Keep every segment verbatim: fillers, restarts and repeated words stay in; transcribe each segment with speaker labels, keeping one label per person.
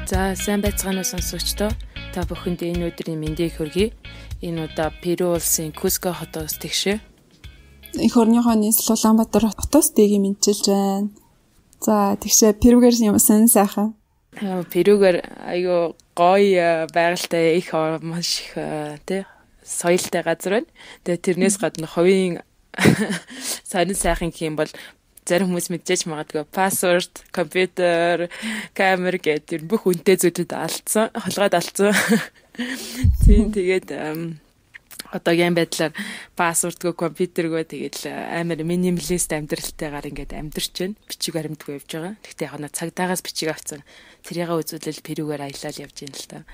Speaker 1: За сайн байцгаана сонсогчдоо. Та бүхэнд энэ өдрийн мэндийг хүргэе. Энэ удаа Перу улсын Куско хотоос тэгшээ.
Speaker 2: Эх орныхоо нийслэл Улаанбаатар хотоос дэгийг мэдчилж байна. За тэгшээ Перугээр юм сан сайхан.
Speaker 1: Перугээр аюу гоё байгальтай их маш их тий соёлтой газар байна. Тэгээ тэрнээс гадна ховын сонин сайхан гэх юм бол зарим хүмүүс мэдчихэж магадгүй пассворд, компьютер, камер гэдэг бүх үнэтэй зүйлүүд алдсан, холгойд алдсан. Тийм тэгээд одоогийн байдлаар пассвордгүй, компьютергөө тэгээд амар минималист амьдралтайгаар ингээд амьдарч байна. Бичиг баримтгүй явж байгаа. Гэхдээ яг нь цагдаагаас бичиг авсан. Тэрийг үзүүлэл Перугээр аялал явж байна л та.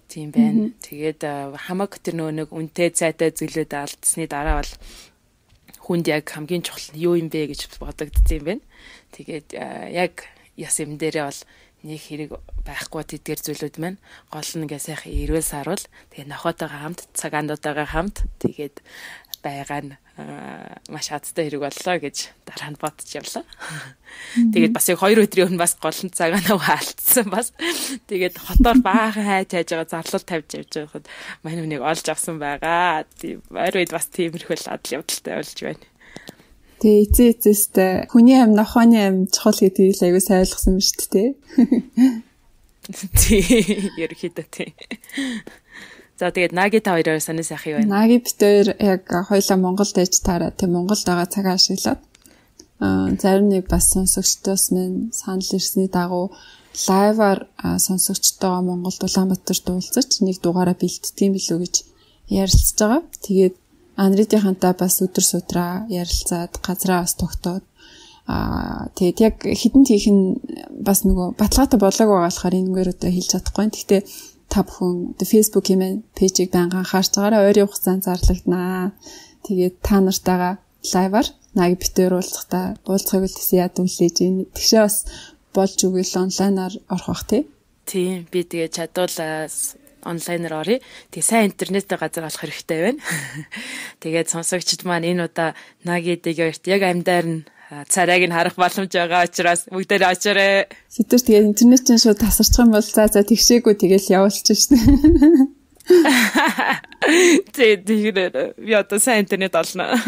Speaker 1: Тийм байна. Тэгээд хамаг тэр нөгөө нэг үнэтэй цайтай зүйлүүд алдсны дараа бол хүнд яг хамгийн чухал нь юу юм бэ гэж бодогдсон юм байна. Тэгээд яг яс юм дээрээ бол нэг хэрэг байхгүй тэдгээр зүйлүүд маань гол нь ингээ сайхан эрүүл сарвал тэгээд нохотойгоо хамт цагаануудаагаа хамт тэгээд байгаа нь маш хацтай хэрэг боллоо гэж дараа нь бодож явлаа. Тэгээд бас яг хоёр өдрийн өмнө бас гол нь цагаанаа хаалтсан бас тэгээд хотоор баахан хайж хайж байгаа зарлал тавьж явж байхад манай хүнийг олж авсан байгаа. Тийм ойр үед бас тиймэрхүү адал явдалтай болж байна.
Speaker 2: Тэгээ эцээ эцээстэй хүний амь нохооны амь чухал гэдгийг аягүй сайн ойлгосон юм шүү дээ.
Speaker 1: Тийм ерөөхдөө тийм. За тэгээд Наги та хоёроо санаа сайхан юу вэ?
Speaker 2: Наги бит хоёр яг хоёлаа Монголд ээж таараа тийм Монголд байгаа цагаа ашиглаад аа зарим нэг бас сонсогчдоос минь санал ирсний дагуу лайваар сонсогчтойгоо Монголд Улаанбаатарт уулзаж нэг дугаараа бэлтгэдэг билүү гэж ярилцж байгаа. Тэгээд Анридийнхантай бас өдөр судраа ярилцаад газраа бас тогтоод аа тэгээд яг хідэн тийх нь бас нөгөө баталгаатай болоог байгаа болохоор энэгээр одоо хэлж чадахгүй. Гэхдээ та бүхэн Facebook-ийн пэйжийг байнга анхаарч байгаарай. Ойрын хугацаанд зарлагдана. Тэгээд та нартайгаа лайваар Наги битээр уулзахдаа уулзахыг үлдээсэн яд үлээж ийн. Тэгшээ бас болж өгөөл онлайнаар орох бах тий.
Speaker 1: Тийм би тэгээд чадвал онлайнаар оръё. Тэгээ сайн интернеттэй газар олох хэрэгтэй байна. Тэгээд сонсогчд маань энэ удаа Наги дээгээрт яг амьдаар нь царайг нь харах боломж байгаа учраас бүгдээр очоорой.
Speaker 2: Сэтгэр тэгээд интернет чинь шууд тасарчих юм бол за за тэгшээгүй тэгэл явуулчих шнэ. Тэгээд
Speaker 1: би одоо сайн интернет олно.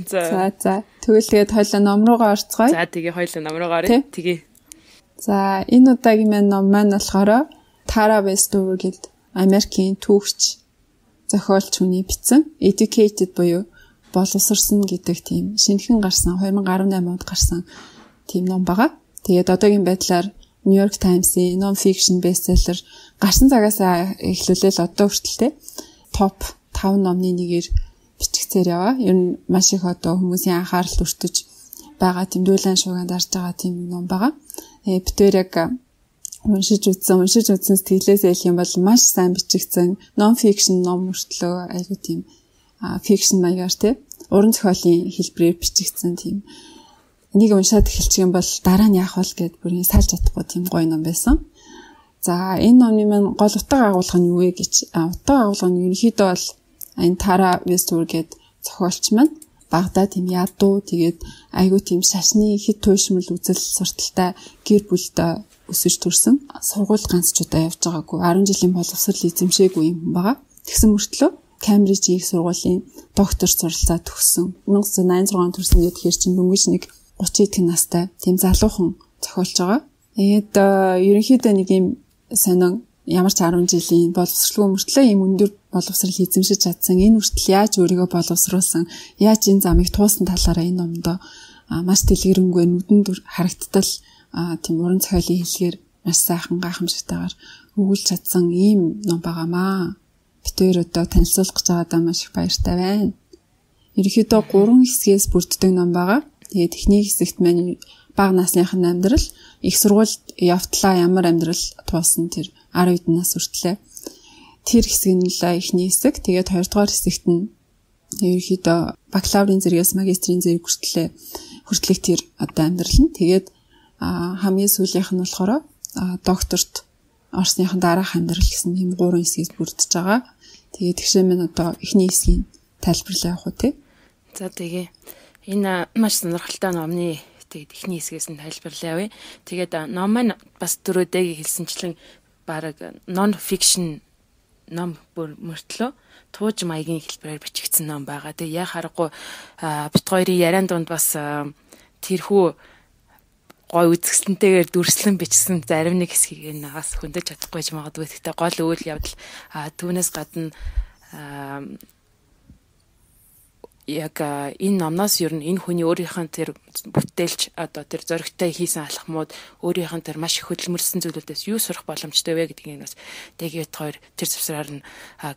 Speaker 2: За за тэгвэл тэгээд хоёлаа ном руугаа орцгоё.
Speaker 1: За тэгээ хоёлаа ном руугаа оръё. Тэгээ.
Speaker 2: За энэ удаагийн маань ном маань болохоор Tara Westover гэдэг Америкийн түүхч зохиолч хүний бичсэн Educated буюу боловсрсон гэдэг тийм шинэхэн гарсан two thousand eighteen онд гарсан тийм ном байгаа. Тэгээд одоогийн байдлаар New York Times-ийн non-fiction bestseller гарсан цагаас эхлүүлэл одоо хүртэлтэй топ five номны нэгээр бичигцээр яваа. Ер нь маш их одоо хүмүүсийн анхаарал өртөж байгаа тийм дүүлэн шууганд арж байгаа тийм ном байгаа. Э битээр яг уншиж үзсэн, уншиж үзсэн сэтгэлээс хэлэх юм бол маш сайн бичигдсэн non-fiction ном мөртлөө айгүй тийм fiction маягаар тий уран зохиолын хэлбэрээр бичигдсэн тийм энийг уншаад эхэлчих юм бол дараа нь яах вэ гэд бүрийн салж чадахгүй тийм гоё ном байсан. За энэ номны маань гол утга агуулга нь юу вэ гэж утга агуулга нь ерөнхийдөө бол энэ Tara Westover гэд зохиолч маань Багдад тийм ядуу тэгээд айгүй тийм шашны хэд туйшмал үзэл сурталтай гэр бүлтэй өсөж төрсөн. Сургууль ганц ч удаа явж байгаагүй. ten жилийн боловсрол эзэмшээгүй юм байгаа. Тэгсэн мөртлөө Кембрижийн их сургуулийн доктор суралцаа төгссөн. nineteen ninety-six төрсөн гэхээр чинь дөнгөж нэг thirty эдхэн настай тийм залуухан зохиолж байгаа. Тэгээд ерөнхийдөө нэг юм сонин ямар ч ten жилийн боловсролгүй мөртлөө ийм өндөр боловсрол эзэмшиж чадсан. Энэ хүртэл яаж өөрийгөө боловсруулсан, яаж энэ замыг туусан талаараа энэ номдоо маш дэлгэрэнгүй нүдэнд харагдтал тийм уран зохиолын хэлгээр маш сайхан гайхамшигтайгаар өгүүлж чадсан ийм ном байгаамаа. Битээр одоо танилцуулах гэж байгаадаа маш их баяртай байна. Ерөнхийдөө гурван хэсгээс бүрддэг ном байгаа. Тэгээд эхний хэсэгт маань бага насныхын амьдрал, их сургуульд явтлаа ямар амьдрал туусан тэр ten эдэн нас хүртлээ. Тэр хэсэг нь л эхний хэсэг. Тэгээд хоёрдугаар хэсэгт нь ерөнхийдөө бакалаврын зэрэгээс магистрийн зэрэг хүртлээ хүртлэх тэр одоо амьдрал нь. Тэгээд а хамгийн сүүлийнх нь болохоор докторт орсныхан дараах амьдрал гэсэн юм гурван хэсгээс бүрдэж байгаа. Тэгээд тэгшээ минь одоо эхний хэсгийн тайлбарлаа явах уу те.
Speaker 1: За тэгээ энэ маш сонирхолтой номны тэгээд эхний хэсгээс нь тайлбарлаа. Тэгээд ном маань бас дөрөвдөг хэлсэнчлэн бараг non fiction ном бүр мөртлөө тууж маягийн хэлбэрээр бичигдсэн ном байгаа. Тэгээ яа харахгүй бит хоёрын яриан донд бас тэрхүү гой үзэсгэлэнтэйгээр дүрслэн бичсэн зарим нэг хэсгийг нагаас хөндөж чадахгүй ч магадгүй. Гэхдээ гол үйл явдал түүнээс гадна яг энэ номноос ер нь энэ хүний өөрийнх нь тэр бүтээлч одоо тэр зоригтой хийсэн алхмууд өөрийнх нь тэр маш их хөдөлмөрсөн зүйлүүдээс юу сурах боломжтой вэ гэдгийг бас тэгээд хоёр тэр завсраар нь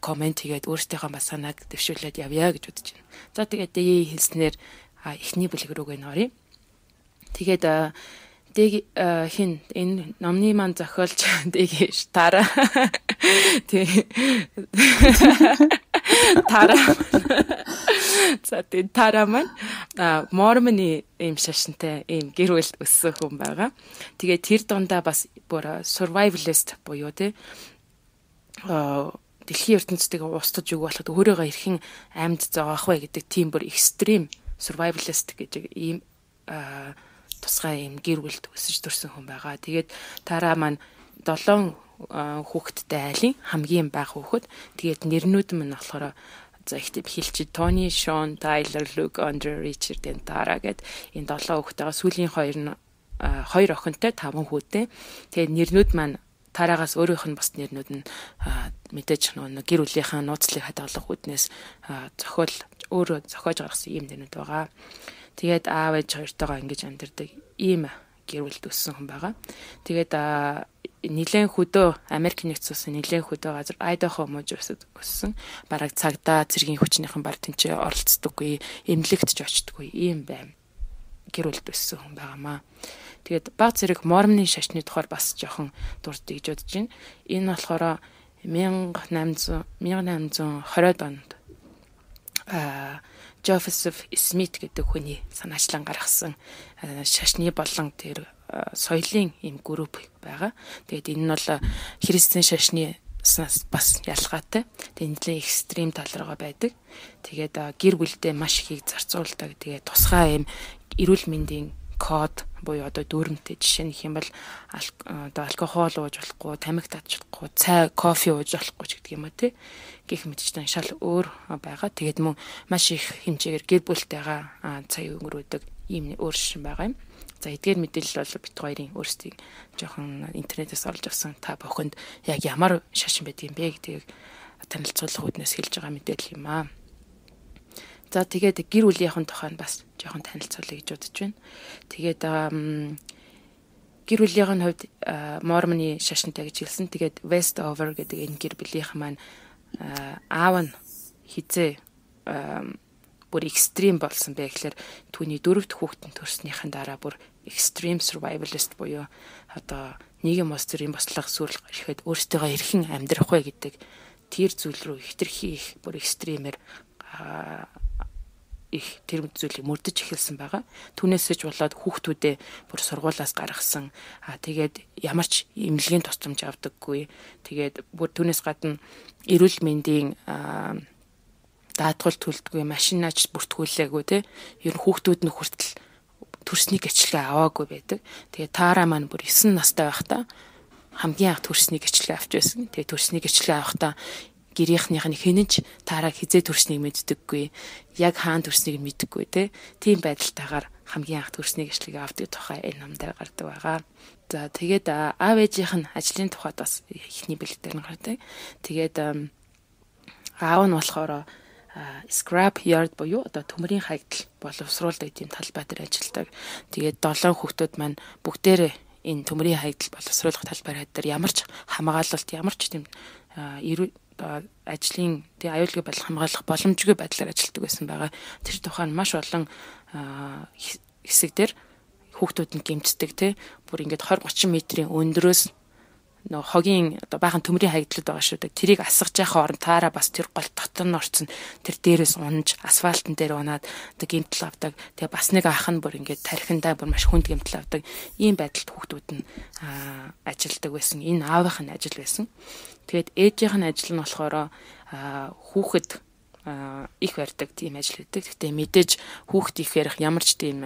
Speaker 1: комент хийгээд өөрсдийнхөө бас санааг дэвшүүлээд явъя гэж бодож байна. За тэгээд дэгийн хэлснээр эхний бүлэг рүүгээ нөрье. Тэгээд дэг хин энэ номны маань зохиолч дэг Тара тэг Тара за тэг Тара маань Мормоны ийм шашинтай ийм гэр бүлд өссөн хүн байгаа. Тэгээд тэр дундаа бас бүр survivalist буюу те дэлхийн ертөнцийг устгаж өгөх болоход өөрийгөө хэрхэн амьд зогоох вэ гэдэг тийм бүр extreme survivalist гэж ийм тусгай юм гэр бүлд өсөж төрсэн хүн байгаа. Тэгээд Тара маань долоон хүүхэдтэй айлын хамгийн бага хүүхэд. Тэгээд нэрнүүд нь болохоор за ихтэй хэлчих Тони, Шон, Тайлер, Люк, Андре, Ричард, Тара гэд энэ долоо хүүхэдтэйгээ сүүлийн хоёр нь хоёр охинтой таван хүүтэй. Тэгээд нэрнүүд маань Тарагаас өөрийнх нь бас нэрнүүд нь мэдээж нэг гэр бүлийнхаа нууцлыг хадгалах үүднээс зохиол өөрөө зохиож гаргасан юм нэрнүүд байгаа. Тэгээд аав ээж хоёртойгоо ингэж амьдардаг ийм гэр бүлд өссөн хүн байгаа. Тэгээд нэлээд хөдөө Америк нэгдсэн улсын нэлээд хөдөө газар Айдахо мужид өссөн. Бараг цагдаа цэргийн хүчнийхэн бар тэнцээ оролцдоггүй, эмнэлэгт ч очдоггүй ийм байм гэр бүлд өссөн хүн байгаамаа. Тэгээд баг зэрэг Мормоны шашны тухайд бас жоохон дурддаг гэж бодож байна. Энэ болохоор мянга найман зуун онд аа Joseph Smith гэдэг хүний санаачлан гаргасан шашны болон тэр соёлын ийм групп байгаа. Тэгээд энэ нь бол христийн шашны бас ялгаатай. Тэгээд нэлээд экстрим тал руугаа байдаг. Тэгээд гэр бүлдээ маш ихийг зарцуулдаг. Тэгээд тусгай ийм эрүүл мэндийн код буюу одоо дүүрэмтэй жишээ нь хэм бол одоо алкогол ууж болохгүй, тамхи татж болохгүй, цай, кофе ууж болохгүй ч гэдэг юм а тий. Гэх мэтчтэй шал өөр байгаа. Тэгээд мөн маш их хэмжээгээр гэр бүлтэйгээ цаг өнгөрөөдөг ийм өөр шин байгаа юм. За эдгээр мэдээлэл бол бит хоёрын өөрсдийн жоохон интернетээс олж авсан та бүхэнд яг ямар шашин байдаг юм бэ гэдгийг танилцуулах үүднээс хэлж байгаа мэдээлэл юм аа. За тэгээд гэр бүлийнхэн тухайн бас жоохон танилцуулъя гэж бодож байна. Тэгээд гэр бүлийнхэн хувьд Мормоны шашинтай гэж хэлсэн. Тэгээд Westover гэдэг энэ гэр бүлийнхэн маань аав нь хизээ бүр экстрим болсон бэ гэхээр түүний дөрөвд хүүхдэн төрснийхэн дараа бүр extreme survivalist буюу одоо нийгэм ус төрийн бослого сүрэл ирэхэд өөртөө хэрхэн амьдрах вэ гэдэг тэр зүйл рүү хитрхи их бүр экстремээр их тэр зүйлийг мөрдөж эхэлсэн байгаа. Түүнээсэж болоод хүүхдүүдээ бүр сургуулаас гаргасан. Аа тэгээд ямар ч эмнэлгийн тусламж авдаггүй. Тэгээд бүр түүнээс гадна эрүүл мэндийн даатгал төлдөггүй, машинаач бүртгүүлээгүй те. Ер нь хүүхдүүд нь хүртэл төрсний гэрчлэгээ аваагүй байдаг. Тэгээд Тара маань бүр есөн настай байхдаа хамгийн анх төрсний гэрчлэгээ авч байсан. Тэгээд төрсний гэрчлэгээ авахдаа гэрийнхнийх нь хинэж Тараг хизээ төрснийг мэддэггүй, яг хаан төрснийг мэддэггүй те. Тийм байдалтайгаар хамгийн анх төрсний гэрчлэгээ авдаг тухай энэ номдэр гардаг байгаа. За тэгээд аав ээжийнх нь ажлын тухайд бас ихний бэлэг дээр нь гардаг. Тэгээд аав нь болохоор scrap yard буюу одоо төмрийн хаягдал боловсруулдаг тийм талбай дээр ажилладаг. Тэгээд долоон хүүхдүүд маань бүгдээрээ энэ төмрийн хаягдал боловсруулах талбай дээр ямар ч хамгаалалт, ямар ч тийм ажлын тий аюулгүй байдал хамгаалах боломжгүй байдлаар ажилладаг байсан байгаа. Тэр тухайн маш олон хэсэг дээр хүүхдүүд нь гэмтдэг тий бүр ингээд twenty thirty метрийн өндрөөс нөө хогийн одоо баахан төмрийн хаягдлууд байгаа шүү дээ. Тэрийг асгаж яхаа орон Тара бас тэр гол дотор нь орцсон тэр дээрээс унж асфальтн дээр унаад одоо гэмтэл авдаг. Тэгээ бас нэг ах нь бүр ингээд тархиндаа бүр маш хүнд гэмтэл авдаг. Ийм байдалд хүүхдүүд нь ажилдаг байсан. Энэ аавынх нь ажил байсан. Тэгээд ээжийнх нь ажил нь болохоор хүүхэд их барьдаг тийм ажил хийдэг. Гэхдээ мэдээж хүүхд их ярих ямар ч тийм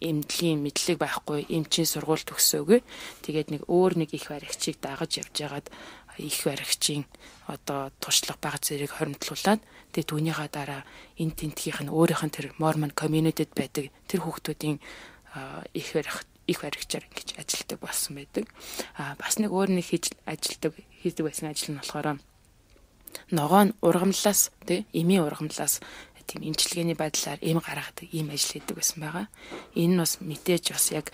Speaker 1: эмнэлгийн мэдлэг байхгүй, эмчийн сургууль төгсөөгүй. Тэгээд нэг өөр нэг их баригчийг дагаж явж байгаад их баригчийн одоо туршлага баг зэрэг хоримтлуулад тэгээд түүнийхээ дараа энэ тентгийнх нь өөрийнх нь тэр Mormon community-д байдаг тэр хүүхдүүдийн их барих их баригчаар ингэж ажилладаг болсон байдаг. А бас нэг өөр нэг хийж ажилладаг хийдэг байсан ажил нь болохоор ногоо нь ургамлаас тий эмийн ургамлаас тийм эмчилгээний байдлаар эм гаргадаг ийм ажил хийдэг байсан байгаа. Энэ нь бас мэдээж бас яг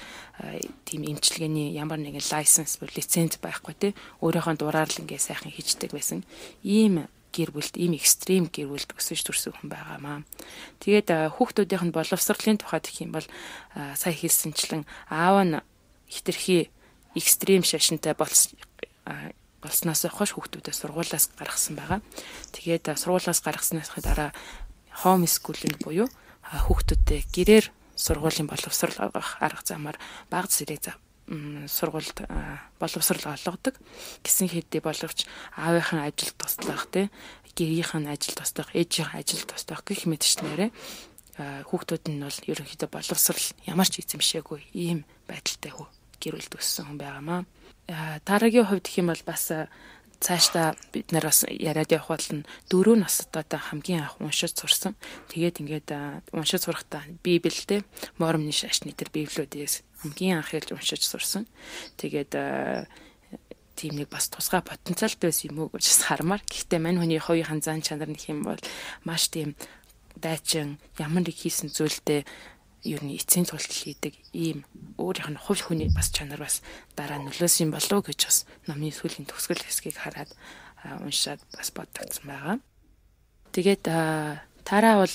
Speaker 1: тийм эмчилгээний ямар нэгэн лайсенс бол лиценз байхгүй тий өөрийнхөө дураар л ингээ сайхан хийждэг байсан. Ийм гэр бүлд ийм экстрим гэр бүлд өсөж төрсөн хүн байгаамаа. Тэгээд хүүхдүүдийнх нь боловсролын тухайд гэх юм бол сая хэлсэнчлэн аав нь хитрхи экстрим шашинтай болсон болсноос хойш хүүхдүүдээ сургуулиас гаргасан байгаа. Тэгээд сургуулиас гаргаснаас дараа home schooling буюу хүүхдүүдээ гэрээр сургуулийн боловсрол авах арга замаар бага зэрэг сургуульд боловсрол олгодог. Гэсэн хэдий боловч аавынхын ажил туслах тий гэрийнхэн ажил туслах, ээжийнхэн ажил туслах гэх мэтчнэрээ хүүхдүүд нь бол ерөнхийдөө боловсрол ямар ч эзэмшээгүй ийм байдалтай гэр бүл төссөн хүн байгаамаа. Дараагийн хувьд гэх юм бол бас цаашдаа бид нар бас яриад явах бол дөрөв настай хамгийн анх уншиж сурсан. Тэгээд ингээд уншиж сурахдаа Библиэд Мормны шашны тэр Библиудээс хамгийн анх хэлж уншиж сурсан. Тэгээд тийм нэг бас тусгай потенциалтай байсан юм уу гэж хармаар. Гэхдээ мань хүний хувийн зан чанар нөх юм бол маш тийм дайчин ямар нэг хийсэн зүйлдээ ер нь эцсийн тултал хийдэг ийм өөрийнх нь хувь хүний бас чанар бас дараа нөлөөсөн болов гэж бас номын сүүлийн төгсгөл хэсгийг хараад уншаад бас бодогдсон байгаа. Тэгээд тараа бол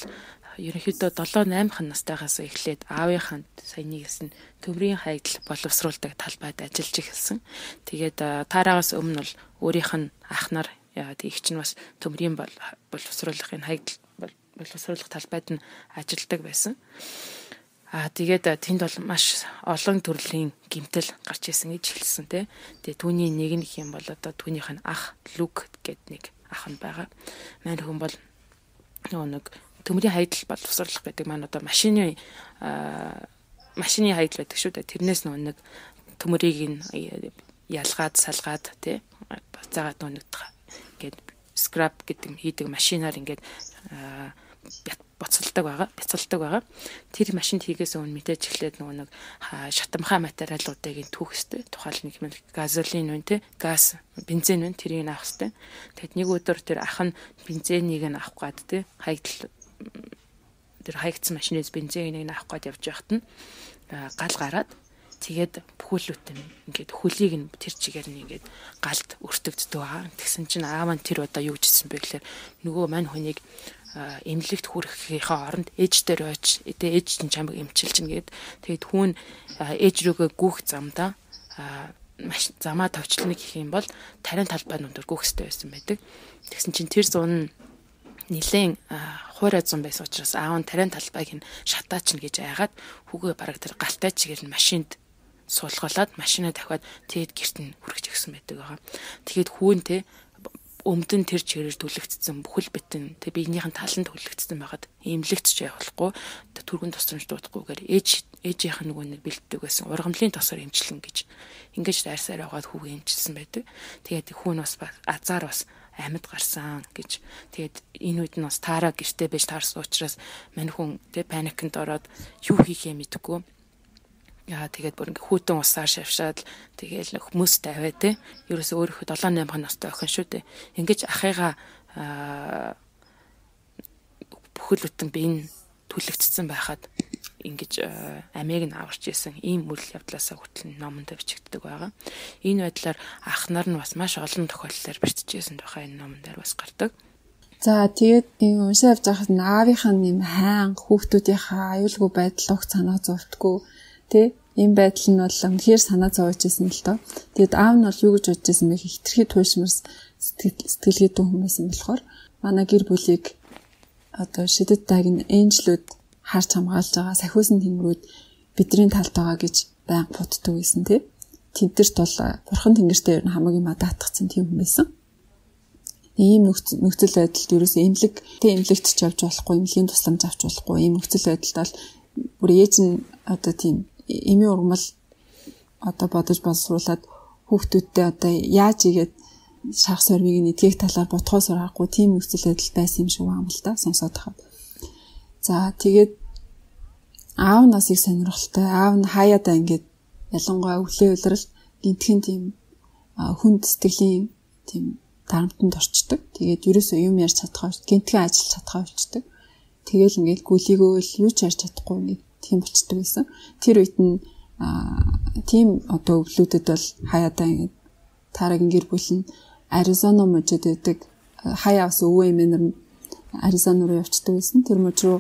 Speaker 1: ерөнхийдөө долоо наймх настайгаас эхлээд аавынханд саяны гэсэн төмрийн хаягдл боловсруулдаг талбайд ажиллаж эхэлсэн. Тэгээд тараагаас өмнө бол өөрийнх нь ах нар тэгч нь бас төмрийн боловсруулахын хаягдл боловсруулах талбайд нь ажилладаг байсан. Аа тэгээд тэнд бол маш олон төрлийн гэмтэл гарч ирсэн гэж хэлсэн тий. Тэгээ түүний нэг нь их юм бол одоо түүнийх нь ах Люк гэдэг нэг ах нь байгаа. Мань хүн бол нөгөө нэг төмрийн хаягдл боловсруулах гэдэг маань одоо машины машины хаягдл байдаг шүү дээ. Тэрнээс нөгөө нэг төмрийг нь ялгаад салгаад тий бацаагаад нөгөө нэг ингээд скрап гэдэг хийдэг машинаар ингээд боцолдог байгаа, бяцалдаг байгаа. Тэр машинд хийгээс өмнө мэдээж эхлээд нөгөө нэг шатамхай материалуудыг түүх хэвээр тухайл нэг юм газолин үн тэ газ, бензин үн тэрийг авах хэвээр. Тэгэд нэг өдөр тэр ах нь бензинийг нь авах гад тэ хаягдл тэр хаягдсан машинээс бензинийг нь авах гад явж байхад нь гал гараад тэгээд бүхүүлүүд нь ингээд хөлийг нь тэр чигээр нь ингээд галд өртөгддөг байгаа. Тэгсэн чинь аав нь тэр удаа юу гэжсэн бэ гэхээр нөгөө мань хүнийг эмнэлэгт хүрэхийнхээ оронд ээж дээр очиж тэгээ ээж чинь чамайг эмчилж гин гээд тэгээд хүн ээж рүүгээ гүөх замдаа замаа товчлно гэх юм бол тарийн талбай нүдэр гүөх хэрэгтэй байсан байдаг. Тэгсэн чинь тэр зун нилээн хуурай зун байсан учраас аав нь тарийн талбайг нь шатаач нь гэж айгаад хүүгээ бараг тэр галтай чигээр нь машинд суулгалаад машинаа дахиад тэгэд гэрт нь хүргэж өгсөн байдаг байгаа. Тэгэхэд хүүн те өмдөн тэр чигээр түлэгдсэн бүхэл битэн тэг биенийхэн таланд түлэгдсэн байгаад эмнэлэгт ч явахгүй түргэн тусламж дуудахгүйгээр ээж ээжийнх нь нөгөө нэг бэлддэг байсан ургамлын тосоор эмчилэн гэж ингэж дайрсаар байгаад хүүгээ эмчилсэн байдаг. Тэгээд хүүн бас азар бас амьд гарсан гэж тэгээд энэ үед нь бас таараа гэртээ байж таарсан учраас мань хүн тэг паникнд ороод юу хийхээ мэдэхгүй. Яа тэгээд бүр ингээ хүүтэн усаар шавшаад тэгээл нэг хүмүүс тавиа те. Ерөөсөө өөрийнхөө долоо наймхан настай охин шүү дээ. Ингээ ахыгаа бүхэл бүтэн биеийн түлэгдсэн байхад ингэж амийг нь аварч исэн ийм үйл явдлаасаа хүртэл номонд бичигддэг байгаа. Энэ байдлаар ах нар нь бас маш олон тохиолдолд бичижсэн тухай энэ номонд бас гардаг.
Speaker 2: За тэгээд энэ уншиж явж байхад аавынхаа нэм хаан хүүхдүүдийнхаа аюулгүй байдал уг санаа зовтгоо тэ ийм байдал нь бол үнэхээр санаа зовж ирсэн л доо. Тэгэд аав нь бол юу гэж бодож ирсэн бэ? Хитрхи туушмарс сэтгэлгээ дүү хүмүүс юм болохоор манай гэр бүлийг одоо шидэт дагийн энжлүүд харж хамгаалж байгаа сахиусан тэнгэрүүд бидний талд байгаа гэж байнга боддог байсан тийм. Тэдэрт бол бурхан тэнгэртэй ер нь хамаг юм даатгцсан тийм хүн байсан. ийм нөхцөл байдалд ерөөсөө эмнэлэг тэ эмнэлэгт ч явж болохгүй, эмнэлгийн тусламж авч болохгүй. Ийм нөхцөл байдалд бол бүр ээж нь одоо тийм эмийн ургамал одоо бодож боловсруулад хүүхдүүдтэй одоо яаж игээд шарх сорвиг нэдгэх талаар ботхоос аргагүй тийм нөхцөл байдал байсан юм шиг байна л да сонсоод хаад. За тэгээд аав насыг сонирхолтой аав нь хаяадаа ингээд ялангуяа өвлөө улирал гинтхэн тийм хүнд сэтгэлийн тийм дарамтанд орчдөг. Тэгээд ерөөсөө юм ярьж чадхаа гинтхэн ажиллаж чадхаа болчдөг. Тэгэл ингээд гүлийгөө л юу ч ярьж чадахгүй нэг тийм болчдөг байсан. Тэр үед нь тийм одоо өвлүүдэд бол хаяадаа ингээд таарагийн гэр бүл нь Аризона мужид байдаг. Хаяа ус өвөө эмээнэр нь Аризона руу явцдаг байсан. Тэр мужид руу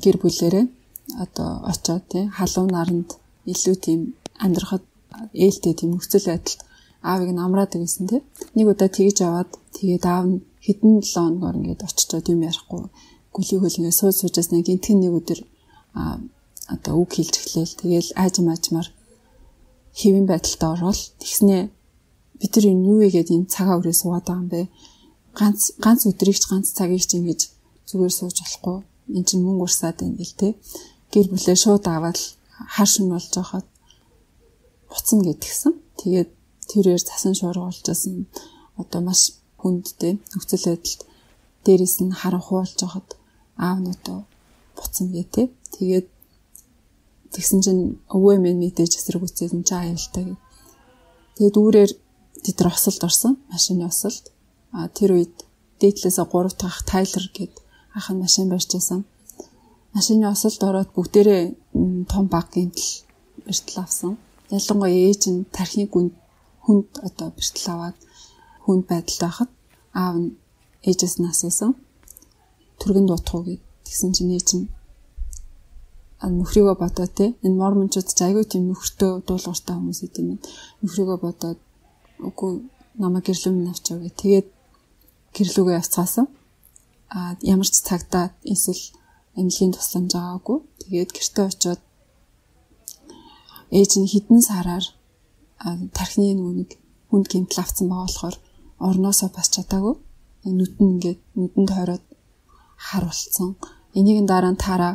Speaker 2: гэр бүлээрээ одоо очоод тий халуун наранд илүү тийм амьдрахад ээлтэй тийм нөхцөл байдалд аавыг нь амраад байсан тий. Нэг удаа тэгж аваад тэгээд аав нь хэдэн жилийн хоногор ингээд очичоод юм ярихгүй гүлийгөл ингээд сууж суужснаа гинтхэн нэг өдөр одоо үг хэлж эхлээл тэгээл аажим аажмаар хэвэн байдалтай орвол тэгснээ бид нар юу игээд энэ цагаа өрөө суугаад байгаа юм бэ? Ганц ганц өдрийг ч ганц цагийг ч ингэж зүгээр сууж болохгүй. Энд чинь мөнгө урсаад байна гэл те. Гэр бүлээ шууд аваад хар шин болж байхад буцна гэдгсэн. Тэгээд тэрээр цасан шуурга болжсэн одоо маш хүндтэй нөхцөл байдалд дээрээс нь харанхуй болж байхад аав нь одоо буцна гэ те. Тэгээд тэгсэн чинь өвөө минь мэдээж эсрэг үцээд энэ чаа аюултай. Тэгээд үүрээр тэд нар осолд орсон. Машины осолд. А тэр үед дээдлээсээ гурав дахь Тайлер гээд ах нь машин барьжсэн. Машины осолд ороод бүгдээрээ том баг гэмтэл бэртэл авсан. Ялангуяа ээж нь тархины гүнд хүнд одоо бэртэл аваад хүнд байдалд байхад аав нь ээжээс нь асуусан. Түргэн дуутах уу гэд. Тэгсэн чинь ээж нь нөхрийгөө бодоо те. Энэ мормончууд ч айгүй тийм нөхөртөө дуулууртай хүмүүс идэв. Нөхрийгөө бодоод үгүй намайг гэрлүүн авчаа гэ. Тэгээд гэрлүүгээ явцгаасан. А ямар ч цагтаа эсвэл эмнэлгийн тусламж аваагүй. Тэгээд гэртээ очиод ээж нь хідэн сараар тархины нүг хүнд гэмтэл авсан байгаа болохоор орноосоо бас чадаагүй. Нүд нь ингээд нүдэнд хороод хар болцсон. Энийг дараа нь таараа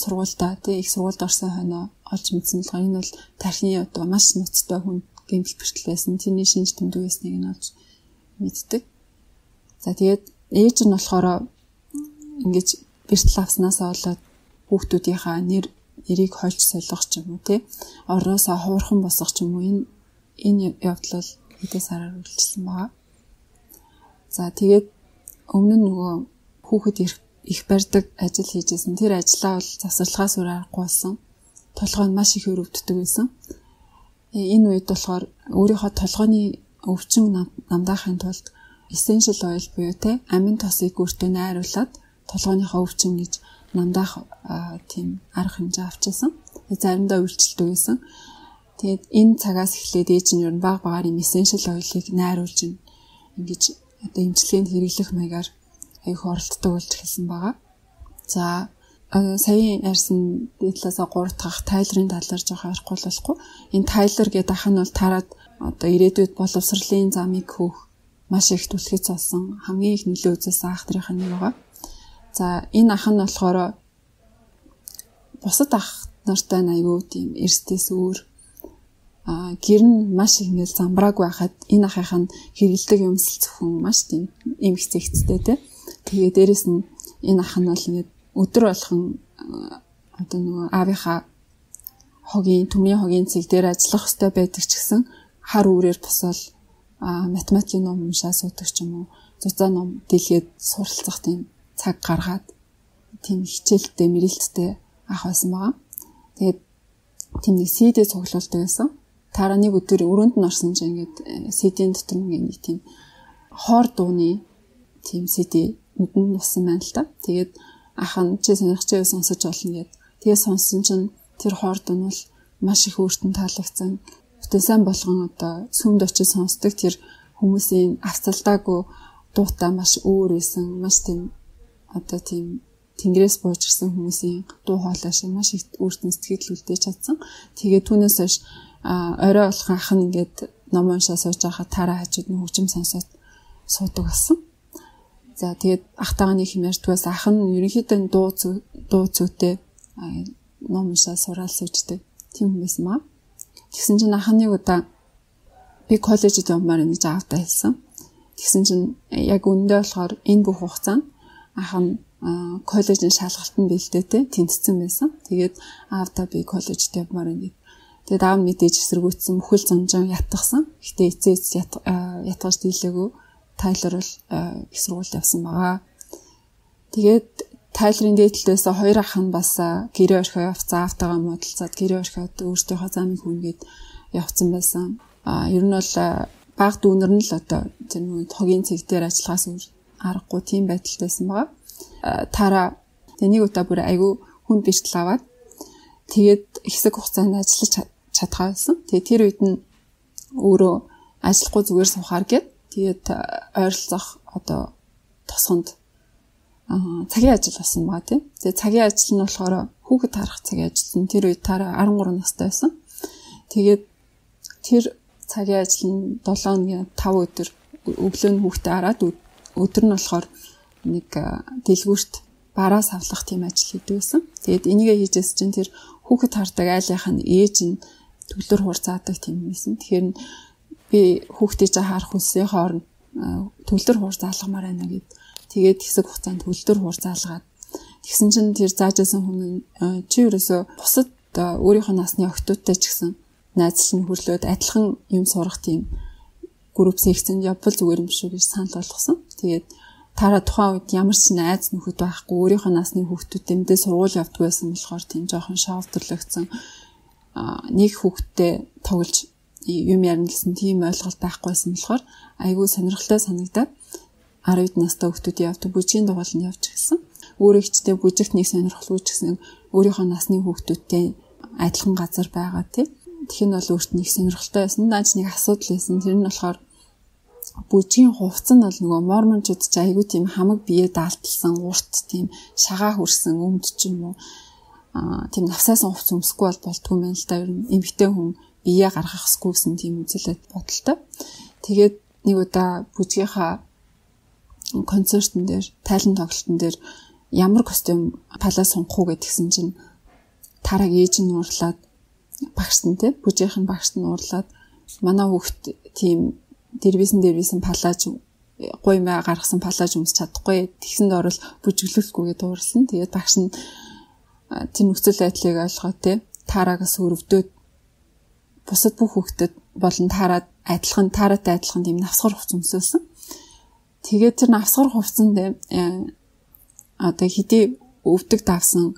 Speaker 2: сургуультай тий их сургуульд орсон хойноо олж мэдсэн л энэ бол тархины одоо маш нуцтай хүнд гэмтэл бэртэл байсан. Тэрний шинж тэмдэг байсныг нь олж мэддэг. За тэгээд ээж нь болохоор ингэж бэртэл авснаасаа болоод хүүхдүүдийнхаа нэр нэрийг хольж солих ч юм уу тий орноосоо хуурхан босгох ч юм уу энэ энэ явдал хэдэн сараар үйлчилсэн байгаа. За тэгээд өмнө нь нөгөө хүүхэд их их барьдаг ажил хийжсэн. Тэр ажлаа бол завсарлагаас өөр аргагүй болсон. Толгой нь маш их өрөвддөг байсан. Энэ үед болохоор өөрийнхөө толгойн өвчин намдаахын тулд essential oil буюу те амин тосыг өөртөө найруулад толгойнхоо өвчин гэж намдаах тийм арга хэмжээ авчихсан. Заримдаа үйлчлдэг байсан. Тэгээд энэ цагаас эхлээд ээж нь ер нь баг багаар юм essential oil-ыг найруулж ингэж одоо эмчилгээнд хэрэглэх маягаар их оролддог болж эхэлсэн байгаа. За саяын ярьсан дээдлээсээ гурав дахь Тайлерын талаар жоох ярихгүй болохгүй. Энэ Тайлер гэдэг ах нь бол тараад одоо ирээдүйд боловсролын замыг хөөх маш их түлхэц болсон хамгийн их нөлөө үзүүлсэн ах нарын нэг байгаа. За энэ ах нь болохоор бусад ах нартай айгүй тийм эрсдээс өөр а гэр нь маш их ингээл замбрааг байхад энэ ахын хэрэгэлдэг юмсэл зөвхөн маш тийм эмх зэгцтэй те. Тэгээ дээрэс нь энэ ах нь бол ингээд өдөр болгон одоо нөгөө аавынхаа хогийн төмний хогийн цэг дээр ажиллах хэрэгтэй байдаг ч гэсэн хар үүрээр босол математикийн ном уншаа суудаг ч юм уу зузаан ном дэлгээд суралцах тийм цаг гаргаад тийм хичээлтэй мэрэлттэй ах байсан байгаа. Тэгээд тийм нэг си ди цуглуулдаг байсан. Тараа нэг өдөр өрөөнд нь орсон чинь ингээд си ди-ийн дотор нэг тийм хоор дууны тийм си ди нүдэнд нусан байна л та. Тэгээд ах нь чи сонирхч байв сонсож болно гэд. Тэгээд сонссон чинь тэр хоор дуу нь бол маш их өөртөө таалагдсан. Бүтэн сайн болгон одоо сүмд очиж сонсдог тэр хүмүүсийн авцалдаагүй дуутай маш өөр байсан. Маш тийм одоо тийм тэнгэрээс бууж ирсэн хүмүүсийн дуу хоолой шиг маш их өөртөө сэтгэл үлдээж чадсан. Тэгээд түүнээс хойш орой болох ах нь ингээд ном уншаа сууж байхад тараа хажууд нь хөгжим сонсоод суудаг болсон. За тэгээд ахтайгаа нэг юм ярьдгаас ах нь ерөнхийдөө дуу дуу зүйтэй ном уншаа сураал сууждаг тийм хүн байсан маа. Тэгсэн чинь ах нэг удаа би коллежид явмаар нэг аавтай хэлсэн. Тэгсэн чинь яг өндөө болохоор энэ бүх хугацаанд ах нь коллежийн шалгалтанд бэлдээ те тэнцсэн байсан. Тэгээд аавдаа би коллежид явмаар нэг. Тэгээд аав нь мэдээж эсэргүүцсэн бүхэл зунжин ятгсан. Гэтэ эцээц ятгаж дийлээгөө Тайлор бол их сургуульд явсан байгаа. Тэгээд Тайлорын дээдлээс хоёр ах нь бас гэрээ орхио явцсан. Аавтайгаа муудалцаад гэрээ орхиод өөртөөхөө замыг хүнгээд явцсан байсан. А ер нь бол баг дүүнэр нь л одоо тэр хогийн цэг дээр ажиллахаас өөр аргагүй тийм байдалтайсэн байгаа. Тара тэнийг удаа бүр айгүй хүн бэртэл аваад тэгээд хэсэг хугацаанд ажиллаж чадхаасан. Тэгээд тэр үед нь өөрөө ажиллахгүй зүгээр суухаар гээд тэгээд ойролцоох одоо тосгонд цагийн ажил болсон байгаа тийм. Тэгээд цагийн ажил нь болохоор хүүхэд харах цагийн ажил. Тэр үед Тара арван гурван настай байсан. Тэгээд тэр цагийн ажил нь долоо хоногийн тав өдөр өглөө нь хүүхдээ хараад өдөр нь болохоор нэг дэлгүүрт бараа савлах тийм ажил хийдэг байсан. Тэгээд энийгээ хийжээс чинь тэр хүүхэд хардаг айлынх нь ээж нь төвлөр хуурцаадаг тийм юмсэн. Тэгэхээр би хүүхдээ харах хүссээ хооронд төвлөр хуур заалгамаар байна гэд. Тэгээд хэсэг хугацаанд төвлөр хуур заалгаад тэгсэн чинь тэр заажсан хүн чи ерөөсө бусад өөрийнхөө насны охтуудтай ч гэсэн найзлан хөрлөөд адилхан юм сурах тийм групп секцэнд явбал зүгээр юм шүү гэж санал болгосон. Тэгээд Тара тухайн үед ямар ч найз нөхөд байхгүй өөрийнхөө насны хүүхдүүдтэй мэдээ сургууль явдаг байсан болохоор тийм жоохон шовдөрлөгцсөн нэг хүүхдтэй тоглож юм ярина гэсэн тийм ойлголт байхгүйсэн болохоор айгүй сонирхолтой санагдаад арван настай хүүхдүүд явдаг бүжгийн дугаалнд явж гисэн. Өөрөө ихтэй бүжигт нэг сонирхолгүй ч гэсэн өөрийнхөө насны хүүхдүүдтэй адилхан газар байгаа тий. Тэгэх нь бол өөрт нь их сонирхолтой байсан. Даач нэг асуудал байсан. Тэр нь болохоор бүжгийн хувцас нь бол нөгөө мормончууд ч айгүй тийм хамаг бие даалталсан, урт тийм шагаа хүрсэн өмд ч юм уу. Аа тийм навсаасан хувцас өмсөхгүй бол болтгүй юм л да. Ер нь эмэгтэй хүн бие гаргах хэсгүй гэсэн тийм үзэлэд бодолтой. Тэгээд нэг удаа бүжгийнхаа концертн дээр, тайлан тоглолтын дээр ямар костюм палаа сунгах уу гэдгсэн чинь Тараг ээж нь уурлаад багш нь те бүжгийнх нь багш нь уурлаад манай хүүхд тийм дэрвисэн дэрвисэн палаж гой маа гаргасан палаж өмсч чадахгүй тэгсэнд орол бүжиглүүлэхгүйгээ дуурсан. Тэгээд багш нь тэр нөхцөл байдлыг ойлгоод те Тарагаас өрөвдөөд бусад бүх хүүхдэд болон Тараад адилхан Тараатай адилхан тийм навсгар хувцас өмсөөлсөн. Тэгээд тэр навсгар хувцсанд одоо хэдий өвдөг давсан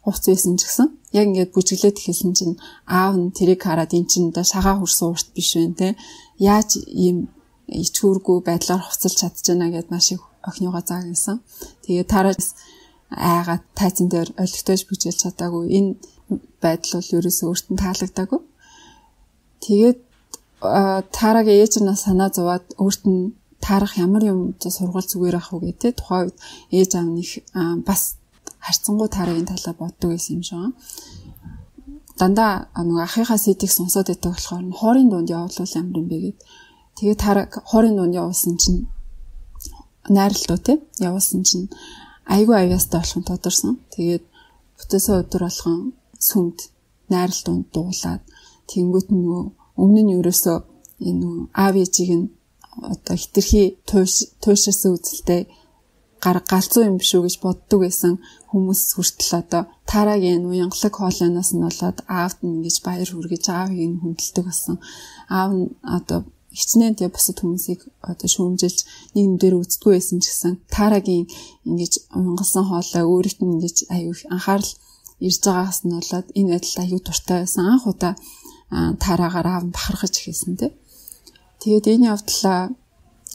Speaker 2: хувцас байсан ч гэсэн яг ингээд бүжиглээд эхэлсэн чинь аав нь тэрийг хараад эн чинь одоо шагаа хүрсэн урт биш вэ те яаж ийм ичгүүргүй байдлаар хувцалж чадчихна гэдээ маш их охиныгоо заагсан. Тэгээд Тараад айгаад тайзан дээр олигтойж бүжиглэж чадаагүй энэ байдал бол ерөөсөө өөртөө таалагдаагүй. Тэгээд Тарагийн ээж нь санаа зовоод өөрт нь таарах ямар юм сургууль зүгээр ах уу гэдэг тухайн үед ээж аав нэг бас харцсангуу Тарагийн талаа боддог байсан юм шиг. Дандаа нөгөө ахыхаа сэдийг сонсоод байдаг болохоор хоорын дунд явуулвал ямар юм бэ гэд. Тэгээд Тараг хоорын дунд явуулсан чинь найралтуу те явуулсан чинь айгүй аяастай болох нь тодорсон. Тэгээд бүтээсээ өдөр болгон сүмд найралтуунд дуулаад тэнгуут нөгөө өмнө нь ерөөсөө энэ аав ээжийг нь одоо хитрхи туушаасан үзэлтэй гар галзуу юм биш үү гэж боддог байсан хүмүүс хүртэл одоо Тарагийн уянгалаг хоолойноос нь болоод аавд нь ингэж баяр хүргэж аавыг нь хүндэлдэг болсон. Аав нь одоо хичнээн тэ бусад хүмүүсийг одоо шүүмжилж нэг юм дээр үздэггүй байсан ч гэсэн Тарагийн ингэж уянгалсан хоолой өөрөлт нь ингэж аюу анхаарал ирж байгаагаас нь болоод энэ байдал аюу дуртай байсан. Анх удаа Тарагаар аав нь бахархаж эхэлсэн тэ. Тэгээд энэ явдлаа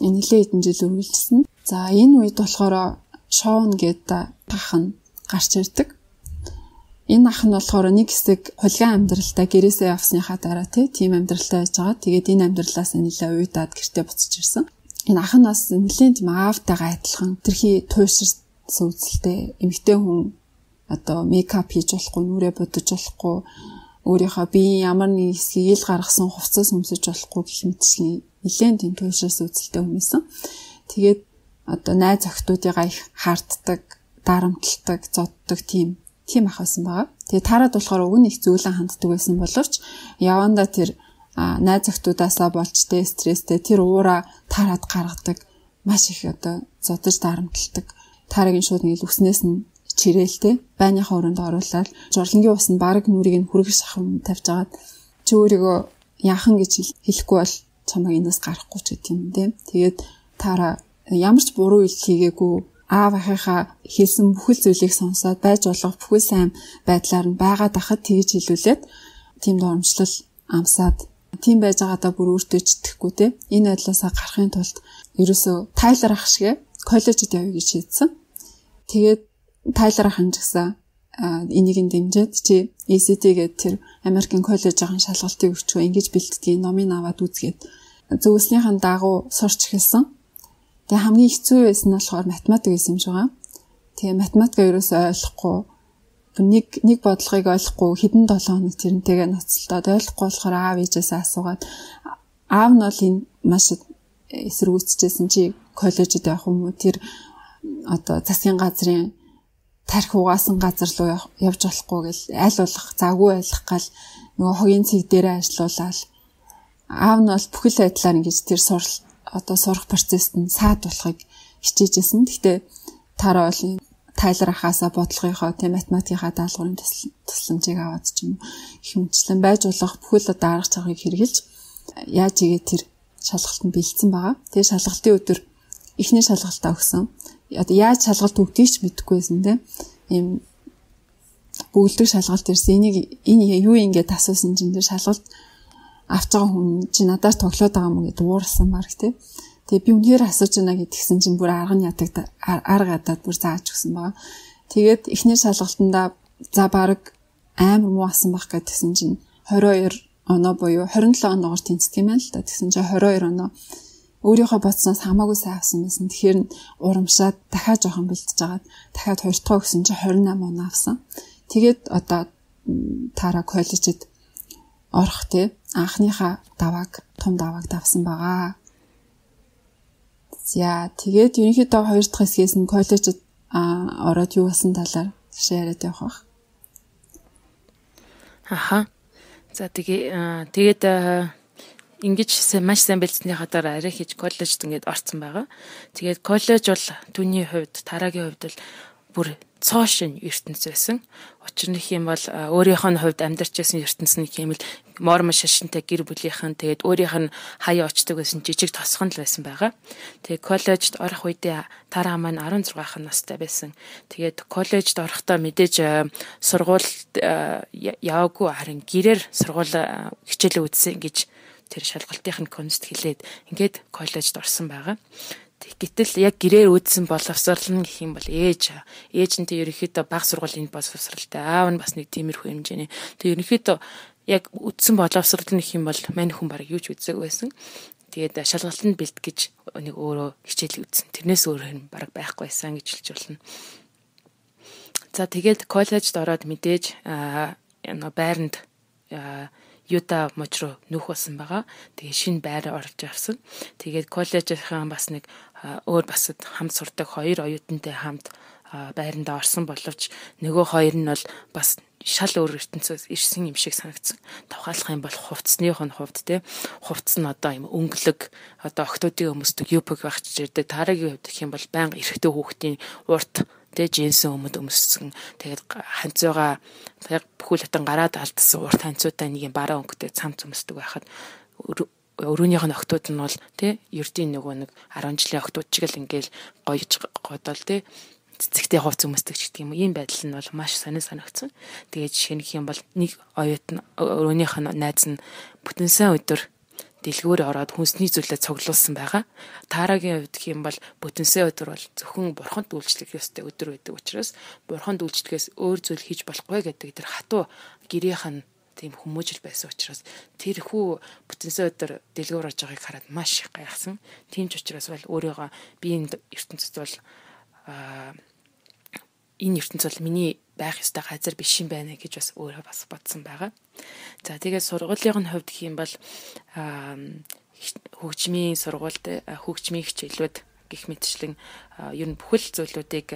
Speaker 2: нэлээд хэдэн жил үргэлжилсэн. За энэ үед болохоор Шоун гэдэг ах нь гарч ирдэг. Энэ ах нь болохоор нэг хэсэг хулгайн амьдралтай гэрээсээ явсныхаа дараа тийм амьдралтай байж байгаа. Тэгээд энэ амьдралаас нэлээд уйдаад гэртээ буцаж ирсэн. Энэ ах нь бас нэлээд тийм аавтайгаа адилхан тэрхий туйширсан үзэлтэй эмэгтэй хүн одоо мейкап хийж болохгүй, нүрээ бодож болохгүй, өөрийнхөө биеийн ямар нэг хэсгийг ил гаргасан хувцас өмсөж болохгүй гэх мэтчлийн нэлээд тийм туушаас үзэлтэй хүмүүссэн. Тэгээд одоо найз охтуудыгаа их хаарддаг, дарамтлагдаг, зоддог тийм тийм ах байсан байгаа. Тэгээд таарад болохоор уг нь их зөөлөн ханддаг байсан боловч явандаа тэр найз охтуудаасаа болж тэ стресстэй тэр уураа таарад гаргадаг, маш их одоо зодож дарамтлагдаг. Таарагийн шууд нэг үснээс нь чирээлтэй байныхаа өрөөнд оруулаад журлангийн ус нь баг нүрийг нь хүргэж шахам тавьж агаад чи өөрийгөө яахан гэж хэлэхгүй бол чамайг энэс гарахгүй ч гэх юм тийм. Тэгээд таараа ямар ч буруу ил хийгээгүй аав ахыхаа хэлсэн бүхэл зүйлийг сонсоод байж болох бүхэл сайн байдлаар нь байгаад ахад тэгж хэлүүлээд тийм доромжлол амсаад тийм байж байгаадаа бүр өөртөө ч итгэхгүй те. Энэ байдлаасаа гарахын тулд ерөөсөө Тайлер ах шиг коллежид явъя гэж шийдсэн. Тэгээд Тайлер ах ханжигсан энийг нь дэмжиж чи и си ти гэдэг тэр Америкийн коллежийн шалгалтыг өгчөө ингэж бэлтгэдэг номыг аваад үзгээд зөвлөснийхэн дагуу сурч эхэлсэн. Тэгээ хамгийн хэцүү байсан нь болохоор математик байсан юм шиг байгаа. Тэгээ математика ерөөсөө ойлгохгүй нэг нэг бодлогыг ойлгохгүй хэдэн долоо хоног тэрнтэйгээ ноцолдоод ойлгохгүй болохоор аав ээжээсээ асуугаад аав нь бол энэ маш эсэргүүцчихсэн чи коллежид явах юм уу тэр одоо засгийн газрын тарих угаасан газар руу явж болохгүй гэл аль болох завгүй байлах гал нөгөө хогийн цэг дээрээ ажиллаулаад аав нь бол бүхэл байдлаар ингэж тэр сурал одоо сурах процессд нь саад болохыг хичээжсэн. Гэхдээ таараа бол Тайлер ахаасаа бодлогынхоо тийм математикийнхаа даалгаврын тусламжийг аваад ч юм их хэмжлэн байж болох бүхэл одоо арга чаргыг хэрэгжилж яаж игээ тэр шалгалтанд бэлдсэн байгаа. Тэгээ шалгалтын өдөр эхний шалгалтаа өгсөн. Одоо яаж шалгалт өгдгийг ч мэдэхгүй байсан тийм. Ийм бүгдийг шалгалт ирсэн. Энийг энэ юу ингэж асуусан чинь тэр шалгалт авч байгаа хүн чи надаас тоглоод байгаа юм гэдэг уурсан марк тийм. Тэгээ би үнээр асууж байна гэдгсэн чинь бүр арга нь ядаг арга ядаад бүр зааж өгсөн байгаа. Тэгээд эхний шалгалтандаа за баг амар муу асан байх гэдгсэн чинь двадцать two оноо буюу twenty seven оноогоор тэнцдэг юм байна л да. Тэгсэн чинь twenty two оноо өөрийнхөө бодсноос хамаагүй сайн авсан байсан. Тэгэхээр урамшаад дахиад жоохон бэлтэж агаад дахиад хоёр дахь өгсөн чинь twenty-eight оноо авсан. Тэгээд одоо таараа коллежид орох тий анхныхаа давааг том давааг давсан байгаа. За тэгээд ерөнхийдөө хоёр дахь хэсгээс нь коллежид ороод юу болсон талаар яриад явах байх.
Speaker 1: Аха. За тэгээ тэгээд ингэж маш сайн бэлдсэнийхаа дараа арай хийж коллежид ингээд орсон байгаа. Тэгээд коллеж бол түүний хувьд Тарагийн хувьд бол бүр цоошин ертөнц байсан. Учир нь их юм бол өөрийнх нь хувьд амьдарч байсан ертөнц нь юм л мормон шашинтай гэр бүлийнхэн тэгээд өөрийнх нь хаяа очдог байсан жижиг тосхон л байсан байгаа. Тэгээд коллежид орох үедээ Тараа маань sixteen настай байсан. Тэгээд коллежид орохдоо мэдээж сургуульд яваагүй харин гэрээр сургууль хичээлээ үзсэн гэж тэр шалгалтын конст хэлээд ингээд коллежид орсон байгаа. Гэтэл яг гэрээр үүдсэн боловсрал нь гэх юм бол ээж ээж нь тэг ерөнхийдөө бага сургуулийн боловсралтай аав нь бас нэг тиймэрхүү хэмжээний тэг ерөнхийдөө яг үүдсэн боловсрал нь гэх юм бол мань хүн бараг юу ч үзэг байсан. Тэгээд шалгалтанд бэлт гэж нэг өөрөө хичээл үзсэн. Тэрнээс өөр юм бараг байхгүй байсан гэж хэлж болно. За тэгээд коллежид ороод мэдээж байранд Юта мужруу нүүх болсон байгаа. Тэгээ шинэ байр орж авсан. Тэгээд коллежийнхан бас нэг өөр бас хамт сурдаг хоёр оюутантай хамт байранда орсон боловч нөгөө хоёр нь бол бас шал өөр ертөнцөөс ирсэн юм шиг санагдсан. Тавхаалах юм бол хувцсных нь хувьд те хувцс нь одоо юм өнгөлөг одоо октоодын өмсдөг юпг байх ч ирдэг. Тарагийн хувьд гэх юм бол байнга эрэгтэй хүүхдийн урт тэ джинсэн өмд өмссөн. Тэгээд ханцууга яг бүхэл хатан гараад алдсан урт ханцуутай нэг юм бараа өнгөтэй цамц өмсдөг байхад өрөөнийх нь октод нь бол тэ ердийн нөгөө нэг ten жилийн октод чиг л ингээл гоёж годол тэ цэцэгтэй хувц өмсдөг ч гэдэг юм. Ийм байдал нь бол маш сонир санагдсан. Тэгээд жишээ нь юм бол нэг оюутан өрөөнийх нь найз нь бүтэн сайн өдөр дэлгүүр ороод хүнсний зүйлээ цуглуулсан байгаа. Тарагийн хувьд гэх юм бол бүтэнсээ өдөр бол зөвхөн бурханд үйлчлэх ёстой өдөр байдаг учраас бурханд үйлчлэхээс өөр зүйл хийж болохгүй гэдэг тэр хатуу гэрийнх нь тийм хүмүүжил байсан учраас тэр хүү бүтэнсээ өдөр дэлгүүр орж байгааг хараад маш их гайхсан. Тийм ч учраас бол өөрийгөө би энэ ертөнцид бол энэ ертөнц бол миний байх ёстой газар биш юм байна гэж бас өөрөө бас бодсон байгаа. За тэгээд сургуулийн хувьд гэх юм бол хөгжмийн сургуульд хөгжмийн хичээлүүд гэх мэтчлэн ер нь бүхэл зүйлүүдийг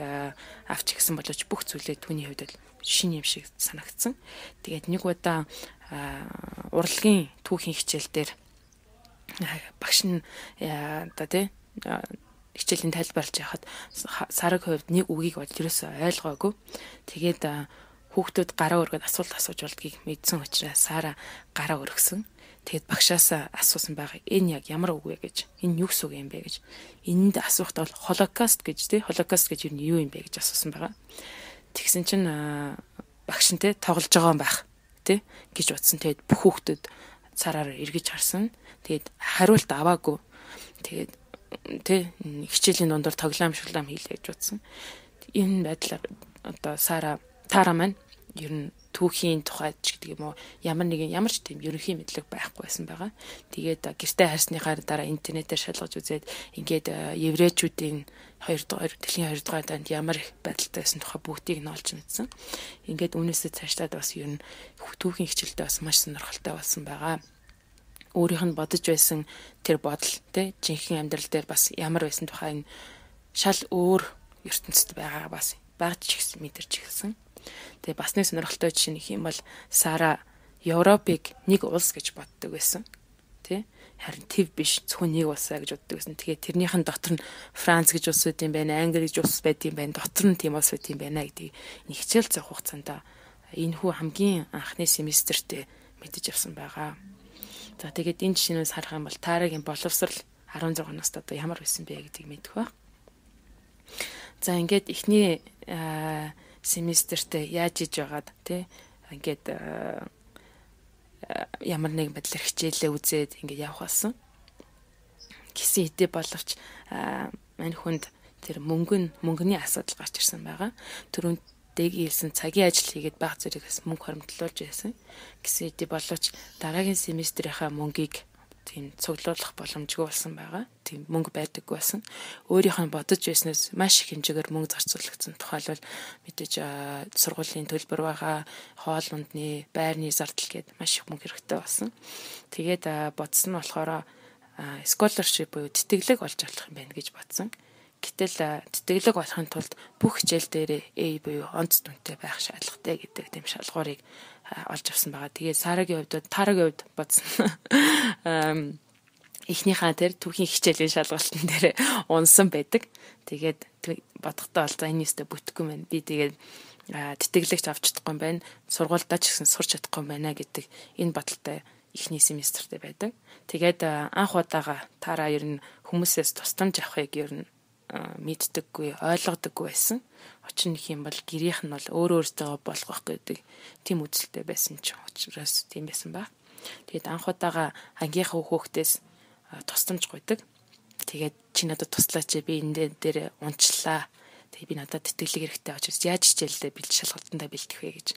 Speaker 1: авч гисэн боловч бүх зүйлээ түүний хувьд л шин юм шиг санагдсан. Тэгээд нэг удаа урлагийн түүхийн хичээл дээр багш нь одоо тий хичээлийн тайлбарлаж яхад Сараг хувьд нэг үгийг бол ерөөсөй ойлгоогүй. Тэгээд хүүхдүүд гараа өргөд асуулт асууж болдгийг мэдсэн учраас Сара гараа өргөсөн. Тэгээд багшаас асуусан байгаа. Энэ яг ямар үг вэ гэж. Энэ юу гэсэн үг юм бэ гэж. Энэнд асуухт бол Холокост гэж тий Холокост гэж юу юм бэ гэж асуусан байгаа. Тэгсэн чинь багш нь тий тоглож байгаа юм байх тий гэж утсан. Тэгээд бүх хүүхдүүд Сараар эргэж харсан. Тэгээд хариулт аваагүй. Тэгээд тий хичээлийн дундор тоглоом шулаам хийлээ гэж утсан. Энэ байдлаар одоо Сара Тара маань ер нь түүхийн тухайд ч гэдэг юм уу ямар нэгэн ямар ч тийм ерөнхий мэдлэг байхгүй байсан байгаа. Тэгээд гэртээ харсныхаа дараа интернетээр шалгаж үзээд ингээд еврейчүүдийн хоёр дахь дэлхийн хоёр дахь дайнд ямар их байдалтай байсан тухай бүгдийг нь олж мэдсэн. Ингээд үүнээсээ цаашлаад бас ер нь түүхийн хичээлдээ бас маш сонирхолтой болсон байгаа. Өөрийнх нь бодож байсан тэр бодол тий жинхэнэ амьдрал дээр бас ямар байсан тухай энэ шал өөр ертөнцид байгаа бас багж ч гэсэн мэдэрч ирсэн. Тэгээ бас нэг сонирхолтой жишээ нөх юм бол Сара Европыг нэг улс гэж боддог байсан. Тэ? Харин төв биш зөвхөн нэг улсаа гэж боддог байсан. Тэгээ тэрнийх нь дотор нь Франц гэж улс байт юм байна, Англи гэж улс байт юм байна, дотор нь тийм улс байт юм байна гэдгийг нэг хичээл зах хугацаанд энэ хүү хамгийн анхны семестртээ мэдэж авсан байгаа. За тэгээд энэ жишээнээс харах юм бол Тарагийн боловсрал арван зургаан настай одоо ямар байсан бэ гэдгийг мэдэх ба. За ингээд эхний семестртээ яаж иж байгаад тий ингээд ямар нэг байдлаар хичээлээ үзээд ингээд явах болсон. Гисэн хэдий боловч мань хүнд тэр мөнгө нь мөнгөний асуудал гарч ирсэн байгаа. Түрүүнд дээг хэлсэн цагийн ажил хийгээд баг зэрэгээс мөнгө хоримтлуулж байсан. Гисэн хэдий боловч дараагийн семестрийнхаа мөнгийг тийм цуглуулах боломжгүй болсон байгаа. Тийм мөнгө байдаггүй байсан. Өөрийнх нь бодож байснаас маш их хэмжээгээр мөнгө зарцуулагдсан. Тухайлбал мэдээж сургуулийн төлбөр байгаа, хоол ундны, байрны зардал гээд маш их мөнгө хэрэгтэй болсон. Тэгээд бодсон нь болохоор scholarship буюу тэтгэлэг олж авах юм байна гэж бодсон. Гэтэл тэтгэлэг олохын тулд бүх хичээл дээр A буюу онц дүнтэй байх шаардлагатай гэдэг тийм шалгуурыг олж авсан байгаа. Тэгээд Сарагийн хувьд Тарагийн хувьд бодсон. Эхнийхээ тэр түүхийн хичээлийн шалгалтын дээр унсан байдаг. Тэгээд бодохдоо бол за энэ нэстэ бүтэхгүй мэн. Би тэгээд тэтгэлэгч авч чадахгүй юм байна. Сургуульдаа ч гэсэн сурч чадахгүй юм байна гэдэг энэ бодолтой эхний семестртээ байдаг. Тэгээд анх удаага Тара ер нь хүмүүсээс тусламж авахыг ер нь мэддэггүй, ойлгодоггүй байсан. Учир нь юм бол гэрийнх нь бол өөр өөртөө болгох гэдэг тийм үзэлтэй байсан ч учраас тийм байсан ба. Тэгээд анх удаага ангийнхаа хүүхдээс тусламж гуйдаг. Тэгээд чи надад туслаач би энэ дээр унчлаа. Тэгээд би надад тэтгэлэг хэрэгтэй очиж яаж хичээлдээ бэлд шалгалтандаа бэлдэх вэ гэж.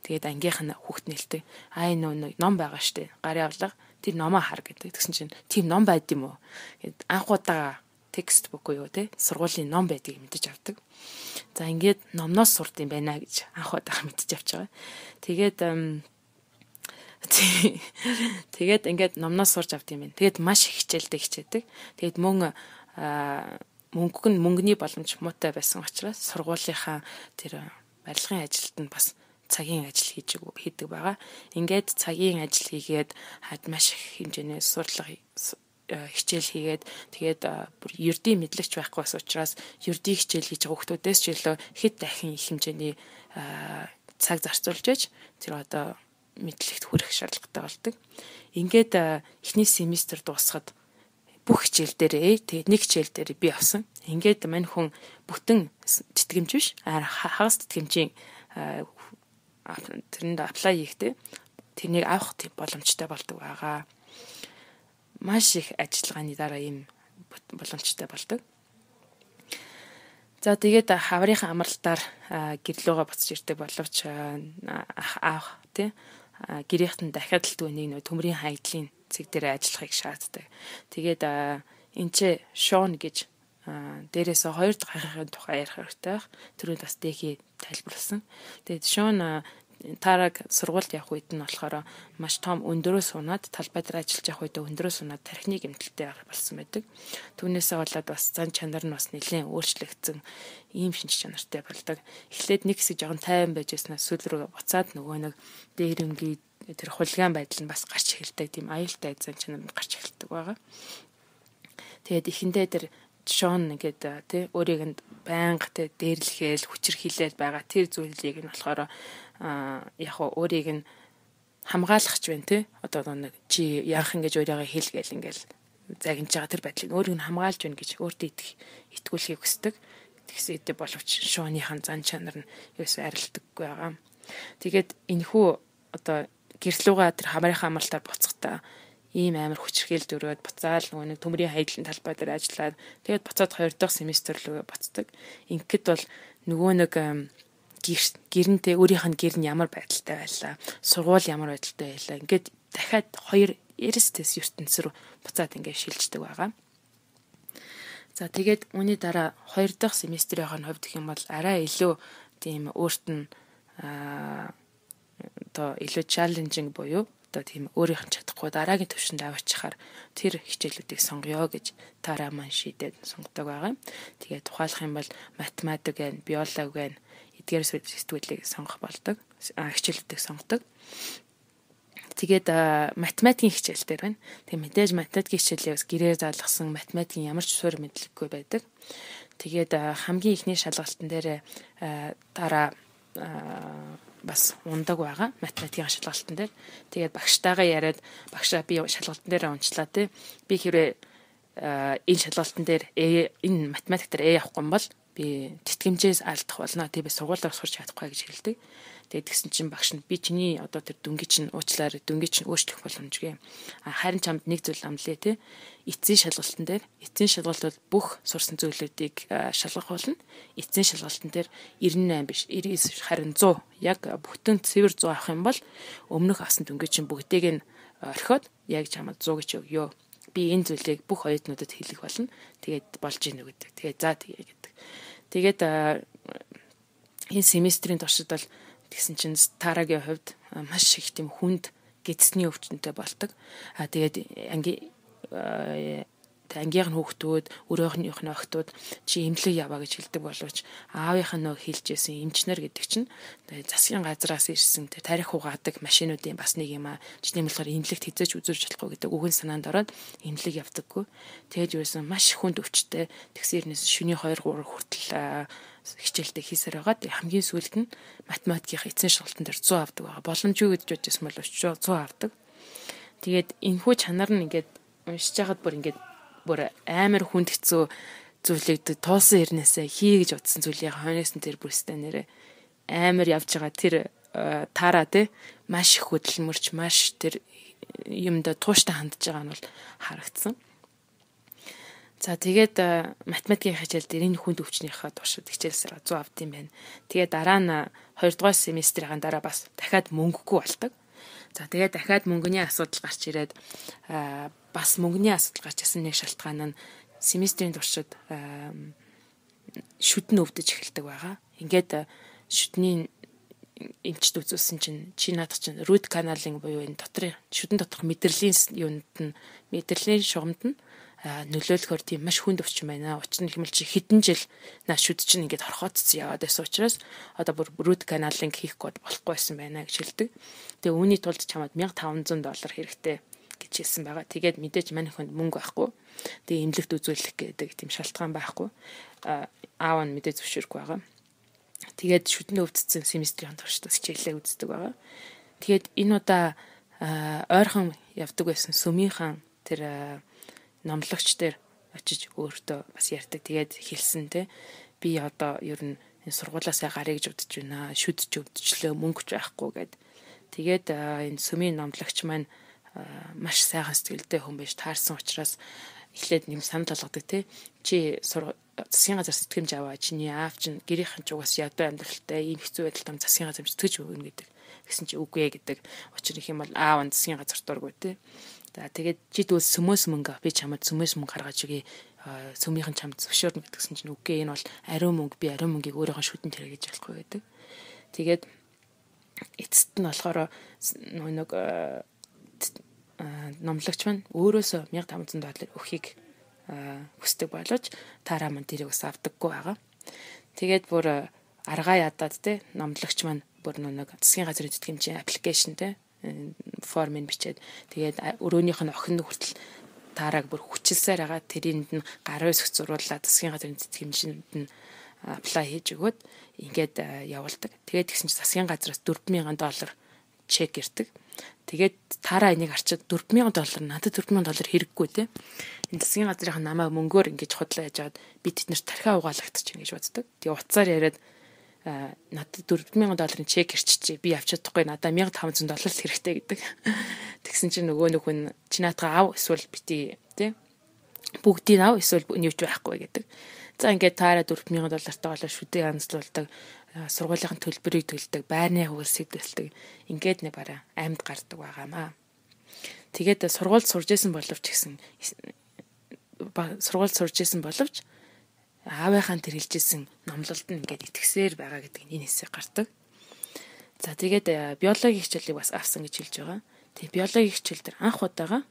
Speaker 1: Тэгээд ангийнх нь хүүхд нэлтэй. Аа энэ ном байгаа штэ. Гарын авлага тэр номоо хар гэдэг. Тэгсэн чинь тийм ном байд юм уу? Гэд анх удаага текст бук уу те сургуулийн ном байдгийг мэдэж авдаг. За ингээд номноос сурд юм байна гэж анх удаага мэдэж авч байгаа. Тэгээд тэгээд ингээд номноос сурж авд юм байна. Тэгээд маш их хичээлдээ хичээдэг. Тэгээд мөн мөнгө нь мөнгөний боломж муутай байсан учраас сургуулийнхаа тэр барилгын ажилд нь бас цагийн ажил хийж хийдэг байгаа. Ингээд цагийн ажил хийгээд хад маш их хэмжээний сурлага хичээл хийгээд тэгээд бүр ердийн мэдлэгч байхгүй бас учраас ердийн хичээл хийж байгаа хүмүүсээс ч илүү хэд дахин их хэмжээний цаг зарцуулж иж тэр одоо мэдлэгт хүрэх шаардлагатай болдог. Ингээд эхний семестр дуусахад бүх хичээл дээрээ тэгээд нэг хичээл дээр би авсан. Ингээд мань хүн бүтэн тэтгэмж биш хагас тэтгэмжийн тэрэнд аплай хийхдээ тэрнийг авах тийм боломжтой болдог байгаа. Маш их ажиллагааны дараа ийм боломжтой болдог. За тэгээд хаврынхаа амралтаар гэрлүүгээ буцаж ирдэг боловч аах тий гэрийнхэд нь дахиад л түүнийг нөө төмрийн хайдлын зэг дээр ажиллахыг шаарддаг. Тэгээд энэ ч Шон гэж дээрээс хоёр дахь ахын тухай ярих хэрэгтэй байх. Түрүүнд бас дэхий тайлбарласан. Тэгээд Шон Тараг сургуульд явах үед нь болохоор маш том өндөрөө сунаад талбай дээр ажиллаж явах үед өндөрөө сунаад тархины гэмтэлтэй болсон байдаг. Түүнээсээ болоод бас зан чанар нь бас нэлээд өөрчлөгдсөн ийм шинж чанартай болдог. Эхлээд нэг хэсэг жоохон тайван байж яснаас сүүл рүү буцаад нөгөө нэг дээрэнгийн тэр хулгайн байдал нь бас гарч эхэлдэг. Тийм аюултай зан чанар нь гарч эхэлдэг байгаа. Тэгээд эхэндээ тэр Шон ингээд тий өөрийг нь байнга тий дээрлэхэл хүчрхийлээд байгаа тэр зүйлийг нь болохоор яг хоо өөрийг нь хамгаалахч байна тий одоо нэг чи яахан гэж өөрийгөө хэлгээл ингээл загинж байгаа тэр байдлыг өөрийг нь хамгаалж байна гэж өөртөө итгэх итгүүлэхийг хүсдэг. Тэгсээдээ боловч Шоныхан зан чанар нь ерөөсөй арилдаггүй байгаа. Тэгээд энэхүү одоо гэрлүүгээ тэр хамрынхаа амралтаар буцахтаа ийм амар хүчрхийл дөрөөд буцаал нөгөө нэг төмрийн хайдлын талбай дээр ажиллаад тэгээд буцаад хоёр дахь семестр рүү буцдаг. Ингээд бол нөгөө нэг гэрнтэй өөрийнх нь гэр нь ямар байдалтай байлаа, сургууль ямар байдалтай байлаа. Ингээд дахиад хоёр эрсдэс ертөнц рүү буцаад ингээд шилждэг байгаа. За тэгээд үүний дараа хоёр дахь семестрийн хувьд гэх юм бол арай илүү тийм өөрт нь одоо илүү чаленжинг буюу одоо тийм өөрийнх нь чадахгүй дараагийн төвшөнд аваачихаар тэр хичээлүүдийг сонгоё гэж тараа маань шийдээд сонгодог байгаа. Тэгээд тухайлах юм бол математик байна, биологи байна, эдгээр сэтгүүлийг сонгох болдог. Хичээлүүдийг сонгодог. Тэгээд математикийн хичээл дээр байна. Тэгээд мэдээж математикийн хичээлийг бас гэрээр заалгасан математикийн ямар ч суурь мэдлэггүй байдаг. Тэгээд хамгийн ихний шалгалтын дээр дараа бас ундаг байгаа математикийн шалгалтын дээр. Тэгээд багштайгаа яриад багшаа би шалгалтын дээр унчлаа тий. Би хэрвээ энэ шалгалтын дээр энэ математик дээр э авахгүй юм бол би тэтгэмжээс алдах болно. Тэг би сургуулиар сурч чадахгүй гэж хэлдэг. Тэгээд тэгсэн чинь багш нь би чиний одоо тэр дүнгийн чинь уучлаар дүнгийн чинь өөрчлөх боломжгүй. А харин чамд нэг зүйл амлаа тий. Эцсийн шалгалтын дээр эцсийн шалгалт бол бүх сурсан зүйлүүдийг шалгах болно. Эцсийн шалгалтын дээр девяносто восемь биш девяносто девять харин сто яг бүтэн цэвэр сто авах юм бол өмнөх авсан дүнгийн чинь бүгдийг нь орхиод яг чамд сто гэж өгөө. Би энэ зүйлийг бүх оюутнуудад хэлэх болно. Тэгээд болж ийн гэдэг. Тэгээд за тэгээ гэдэг. Тэгээд энэ семестрийн туршид бол тэгсэн чинь тарагийн хувьд маш их тийм хүнд гэдсний өвчнөд болдог. А тэгээд анги ангийнх нь хүүхдүүд, өөрөөхнийх нь охтууд чи эмнэлэг яваа гэж хэлдэг боловч аавынх нь нөө хэлжсэн эмчнэр гэдэг чинь засгийн газраас ирсэн тарих угаадаг машинуудын бас нэг юм аа. Жишээ нь болохоор эмнэлэгт хязгаарч үзүүлж чадахгүй гэдэг үгэн санаанд ороод эмнэлэг явдаггүй. Тэгээд юусэн маш хүнд өвчтэй тэгсэрнээс шөнийн two three хүртэл хичээлдээ хийсээр байгаа. Хамгийн сүүлд нь математикийн эцсийн шалгалтын дээр сто авдаг байгаа. Боломжгүй гэж бодчихсон бол сто авдаг. Тэгээд энэхүү чанар нь ингээд уншиж байхад бүр ингээд бүр амар хүнд хэцүү зүйлийг туулсан хэрнээсээ хий гэж утсан зүйлийг хойноос нь тэр бүрстэй нэрээ амар явж байгаа тэр таараа те маш их хөдөлмөрч маш тэр юмда тууштай хандж байгаа нь бол харагдсан. За тэгээд математикийн хичээл дээр энэ хүнд өвчнийхээ туршид хичээлсээр сто авд юм байна. Тэгээд дараа нь хоёр дахь семестрийн дараа бас дахиад мөнгөгүй болдог. За тэгээд дахиад мөнгөний асуудал гарч ирээд бас мөнгөний асуудал гарч ирсэн нэг шалтгаан нь семестрийн туршид шүдэн өвдөж эхэлдэг байгаа. Ингээд шүдний эмчд үзүүлсэн чинь чи наадах чинь root canal-ing буюу энэ дотрын шүдэн доторх мэдрэлийн юунд нь мэдрэлийн шугамд нь нөлөөлөхөөр тийм маш хүнд өвчин байна. Учир нь хэмэл чи хэдэн жил наш шүд чинь ингээд хорхоцсон яваад байсан учраас одоо бүр root canal-ing хийх гээд болохгүй байсан байна гэж хэлдэг. Тэгээ үүний тулд чамд one thousand five hundred доллар хэрэгтэй гэж хэлсэн байгаа. Тэгээд мэдээж манай хүнд мөнгө байхгүй. Тэгээ эмнэлэгт үзүүлэх гэдэг тийм шалтгаан байхгүй. Аав нь мэдээ зөвшөөрөхгүй байгаа. Тэгээд шүдний өвдсөн семестрийн туршдаас хичээлээ үздэг байгаа. Тэгээд энэ удаа ойрхон явдаг байсан сүмийнхэн тэр номлогч дээр очиж өөртөө бас ярьдаг. Тэгээд хэлсэн те би одоо ер нь сургуулаасаа гарыг гэж бодож байна. Шүд ч өвдөжлөө мөнгө ч байхгүй гэд. Тэгээд энэ сүмийн номлогч маань маш сайхан сэтгэлтэй хүн байж таарсан учраас эхлээд нэм санал болгодог те чи засгийн газар сэтгэмж аваа чиний аав чинь гэрийнхэн ч угаас ядуу амьдралтай ийм хэцүү байдалтай засгийн газар сэтгэж өгнө гэдэг. Гэсэн чи үгүй гэдэг. Учир их юм бол аав нь засгийн газар дургүй те. За тэгээд чи дүүс сүмөөс мөнгө би чамд сүмөөс мөнгө гаргаж өгье. Сүмийнхэн чамд зөвшөөрнө гэдгсэн чинь үгүй энэ бол ариун мөнгө би ариун мөнгийг өөрийнхөө шүдэнд хэрэгэж болохгүй гэдэг. Тэгээд эцэст нь болохоор нэг номлогч маань өөрөөсөө мянга тамсан доллар өгөхийг хүсдэг боловч Тара маань тэрийг бас авдаггүй байгаа. Тэгээд бүр аргаа ядаад те номлогч маань бүр нэг засгийн газрын тэтгэмжийн аппликейшн те формыг бичээд тэгээд өрөөнийх нь охин хүртэл Тараг бүр хүчилсээр байгаа. Тэрэнд нь гарын өсгч зуруулаад засгийн газрын тэтгэмжинд нь аплай хийж өгөөд ингээд явуулдаг. Тэгээд тэгсэн чинь засгийн газраас дөрвөн мянган доллар чек ирдэг. Тэгээд Тара энийг арчаад дөрвөн мянган доллар надад дөрвөн мянган доллар хэрэггүй те. Энэ засгийн газрынхаа намайг мөнгөөр ингэж худлаа яж аваад би тэднэрт тархиа угаалгадчих ингэж боддог. Тэгээ уцаар яриад надад дөрвөн мянган долларын чек ирчихжээ. Би авч чадахгүй надад мянга таван зуун доллар л хэрэгтэй гэдэг. Тэгсэн чинь нөгөө нөхөн чи наатаа ав эсвэл бити те. Бүгдийг ав эсвэл нэвч байхгүй гэдэг. За ингээд Тара дөрвөн мянган доллартай болоо шүдээ янзлуулдаг. Сургуулийн төлбөрийг төлдөг, байрны хурсыг төлдөг. Ингээд нэг бараа амьд гардаг байгаамаа. Тэгээд сургуульд сурж исэн боловч гэсэн сургуульд сурж исэн боловч аавынхаа тэр хэлжсэн номлолд нь ингээд итгэсээр байгаа гэдэг энэ хэсэг гардаг. За тэгээд биологийн хичээлийг бас авсан гэж хэлж байгаа. Тэгээд биологийн хичээл дээр анх удаага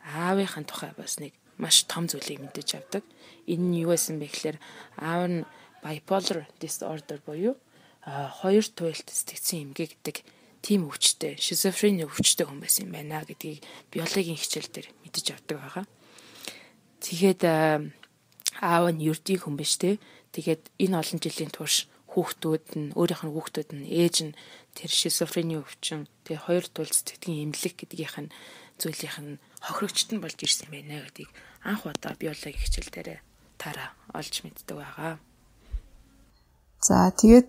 Speaker 1: аавынхаа тухай бас нэг маш том зүйлийг мэдэж авдаг. Энэ нь юу байсан бэ гэхээр аав нь bipolar disorder буюу хоёр туйлд сэтгцэн эмгэг гэдэг тийм өвчтэй, шизофрени өвчтэй хүн байсан юм байна гэдгийг биологийн хичээл дээр мэдэж авдаг байгаа. Тэгээд аав нь ердийн хүн биш те. Тэгээд энэ олон жилийн турш хүүхдүүд нь өөрийнх нь хүүхдүүд нь ээж нь тэр шизофрени өвчин, тэгээд хоёр туйлд сэтгцэн эмнэлэг гэдгийнх нь зүйлийнх нь хохирогчт нь болж ирсэн байна гэдгийг анх удаа биологийн хичээл дээр Тара олж мэддэг байгаа.
Speaker 2: За тэгээд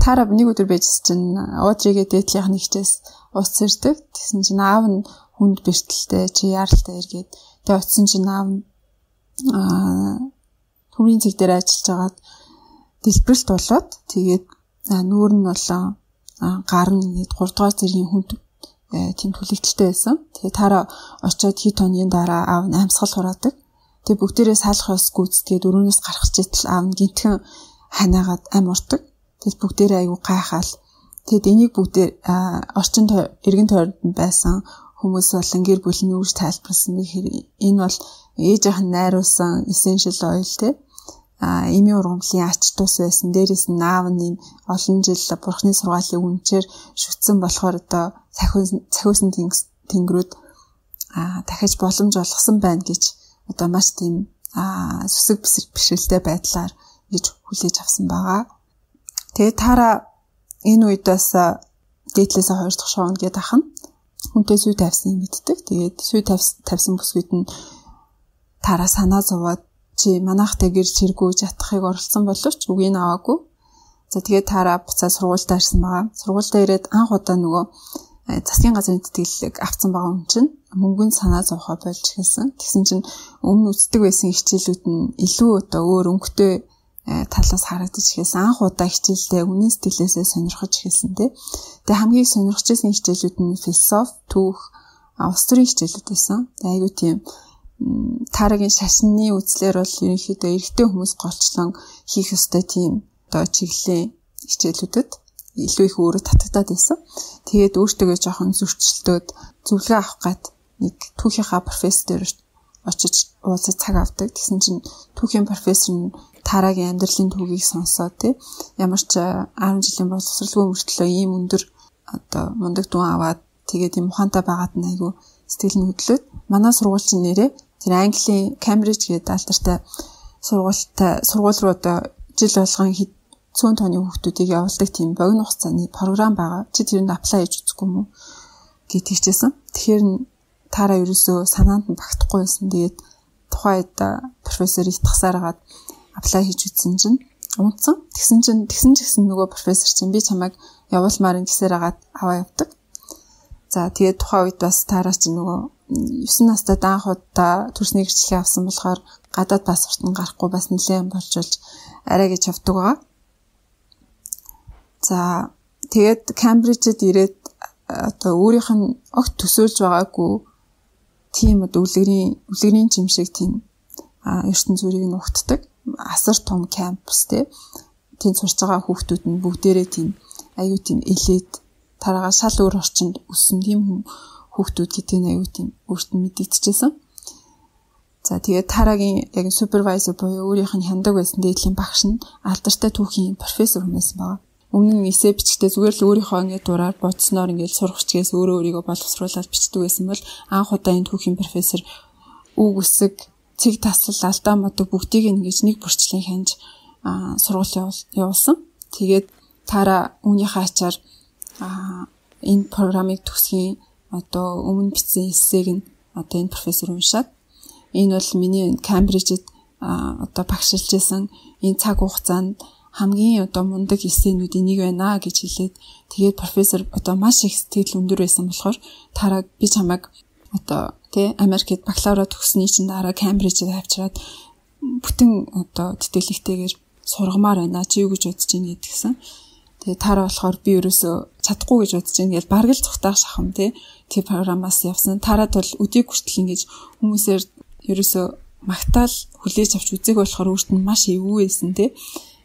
Speaker 2: Тара нэг өдөр байжс чинь Одригээ дээдлийнх нь хичээс ус сэрдэг. Тэгсэн чинь аав нь хүнд бэртэлтэй чи яаралтай эргээд тэгээд очисон чинь аав нь төмрийн цэг дээр ажиллаж байгаад дэлбэрэлт болоод тэгээд нүүр нь болоо гар нь ингээд гурав дахь зэргийн хүнд тийм түлэгдэлтэй байсан. Тэгээд Тара очиод хит хоногийн дараа аав нь амьсгал хураадаг. Тэгээд бүгдээрээ салах ус гүйцэтгээд өрөөнөөс гарах читэл аав нь гинтхэн ханаагаад ам уртаг. Тэгэд бүгдээрээ аягүй гайхаал. Тэгэд энийг бүгдээр орчин эргэн тойронд байсан хүмүүс болон гэр бүлийн үүрэг тайлбарласан гэхээр энэ бол ээжийнх нь найруулсан essential oil те а эмийн ургамлын ач тус байсан. Дээрээс нь аав нь олон жил бурхны сургаалын үнчээр шүтсэн болохоор одоо цахиусан тэнгэрүүд а дахиж боломж олгосон байна гэж одоо маш тийм а сүсэг бишрэлтэй байдлаар гэж хүлээж авсан байгаа. Тэгээд Тара энэ үед бас дээдлээсээ хоёр дахь шоунд гээд ахна. Хүнтэй сүй тавьсан юм мэддэг. Тэгээд сүй тавьсан бүсгүйд нь Тара санаа зовоод чи манайхтай гэр чиргүүж ятахыг оролцсон боловч үгийг аваагүй. За тэгээд Тара буцаа сургуультай ирсэн байгаа. Сургуультай ирээд анх удаа нөгөө засгийн газрын тэтгэлэг авсан байгаа юм чинь мөнгөнд санаа зовхоо болж эхэлсэн. Тэгсэн чинь өмнө үздэг байсан хичээлүүд нь илүү одоо өөр өнгөтэй талаас харагдаж эхэлсэн. Анх удаа хичээлдээ үнэн сэтгэлээсээ сонирхож эхэлсэн тий. Тэгээ хамгийн сонирхож байсан хичээлүүд нь философи, түүх, улс төрийн хичээлүүд байсан. Тэгээ айгүй тийм Тарагийн шашны үзлэр бол ерөнхийдөө эрэгтэй хүмүүс голчлон хийх ёстой тийм одоо чиглэлийн хичээлүүдэд илүү их өөрөө татагдаад байсан. Тэгээд өөртөө жоохон зөрчилдөөд зөвлөгөө авах гад нэг түүхийнхаа профессор очиж уулзаж цаг авдаг. Тэгсэн чинь түүхийн профессор нь Тарагийн амьдралын түүхийг сонсоод тий ямар ч арван жилийн боловсралгүй мөртлөө ийм өндөр одоо мундаг дүн аваад тэгээд юм ухаантай байгаад нь айгүй сэтгэл нь хөдлөөд манай сургуульчин нэрээ тэр Английн Cambridge гэдэг алдартай сургуультай сургууль руу одоо жил болгон цөөн тооны хүүхдүүдийг явуулдаг тийм богино хугацааны програм байгаа. Чи тэрэнд аплай хийж үзэхгүй юм уу гэж хэлчихсэн. Тэгэхээр Тара ерөөсөө санаанд нь багтахгүй байсан. Тэгээд тухайд профессор итгсаар хагаад аплай хийж үзсэн чинь унтсан. Тэгсэн чинь тэгсэн ч гэсэн нөгөө профессор чинь би чамайг явуулмаар ин гэсээр хагаад аваа явдаг. За тэгээд тухайн үед бас Тара чинь нөгөө есөн настай анх удаа төрсний гэрчлэгээ авсан болохоор гадаад паспорт нь гарахгүй бас нэлээд болжулж арай гэж явдаг байгаа. За тэгээд Камбриджид ирээд одоо өөрийнх нь огт төсөөлж байгаагүй тийм одоо үлгэрийн үлгэрийн жимшиг тийм ертөнц зүрийг нь ухтдаг. Асар том кампус те. Тэнд сурч байгаа хүүхдүүд нь бүгдээрээ тийм аюу тийм элит Тараагаа шал өөр орчинд өссөн тийм хүүхдүүд гэдэг нь аюу тийм өөрт нь мэдэгдчихсэн. За тэгээд Тарагийн яг супервайзер буюу өөрийнх нь хяндаг байсан дээдлийн багш нь алдартай түүхийн профессор хүмүүс байгаа. Өмнө нь эссе бичгтээ зүгээр л өөрийнхөө ингээд дураар бодсноор ингээд сурах чигээс өөрөө өөрийгөө боловсруулаад бичдэг байсан бол анх удаа энэ түүхийн профессор үг үсэг, цэг таслал, алдаа модог бүгдийг ингэж нэг бүрчлэн хянж сургууль явуулсан. Тэгээд Тара үүнийхээ ачаар энэ программыг төгсгийн одоо өмнө бичсэн эссег нь одоо энэ профессор уншаад энэ бол миний Камбрижид одоо багшилж байсан энэ цаг хугацаанд хамгийн одоо мундаг эссенүүдийн нэг байна гэж хэлээд тэгээд профессор одоо маш их сэтгэл өндөр байсан болохоор Тараг би чамайг одоо тий Америкт бакалавра төгссөний чинь дараа Камбрижид авчираад бүтэн одоо тэтгэлэгтэйгээр сургамаар байна чи юу гэж бодож байна гэдгсэн. Тэгээд Тара болохоор би ерөөсөө чадахгүй гэж бодож байна гэж бараг л цухтаах шахам тий тэр программаас явсан. Тарад бол өдийг хүртэл ингэж хүмүүсээр ерөөсөө магтаал хүлээж авч үзэг болохоор өөрт нь маш эвгүй байсан тий.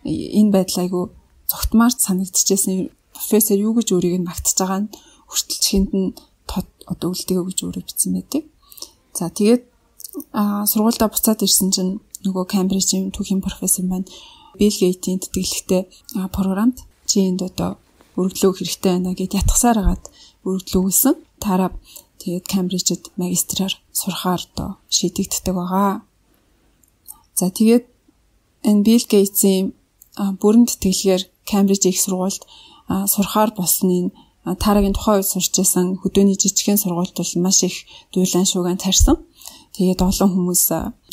Speaker 2: Энэ байдал айгу цогтмаар санагдчихсэн. Профессор юу гэж өөрийг нь магтаж байгаа нь хүртэл чихэнд нь одоо үлдэгээ гэж өөрөө бичсэн байдаг. За тэгээд сургуультай буцаад ирсэн чинь нөгөө Камбрижийн түүхийн профессор маань Билл Гейтийн тэтгэлэгтэй програмд чи энд одоо өргөлөө хэрэгтэй байна гэд ятгасаар хагаад өргөлөө өгсөн. Тараа тэгээд Камбрижид магистраар сурахаар одоо шийдэгддэг байгаа. За тэгээд энэ Билл Гейтсийн бүрэн тэтгэлгээр Камбриж их сургуульд сурахаар болсныг Тарагийн тухайн үед сурч байсан хөдөөний жижигхэн сургуульд бол маш их дуйлан шуугаан тарьсан. Тэгээд олон хүмүүс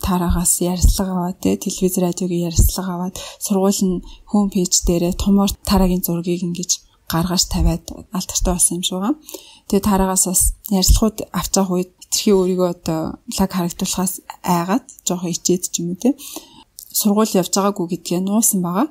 Speaker 2: Тараагаас ярилцлага аваад телевиз радиогийн ярилцлага аваад сургууль нь хоум пэйж дээрээ томоор Тарагийн зургийг ингэж гаргаж тавиад алдартай болсон юм шиг байна. Тэгээд Тараагаас бас ярилцлагууд авч байгаа үед хитрхи өөрийгөө одоо лаг харагдуулахаас айгаад жоохон ичээд ч юм уу те сургууль явж байгаагүй гэдгээ нуусан байгаа.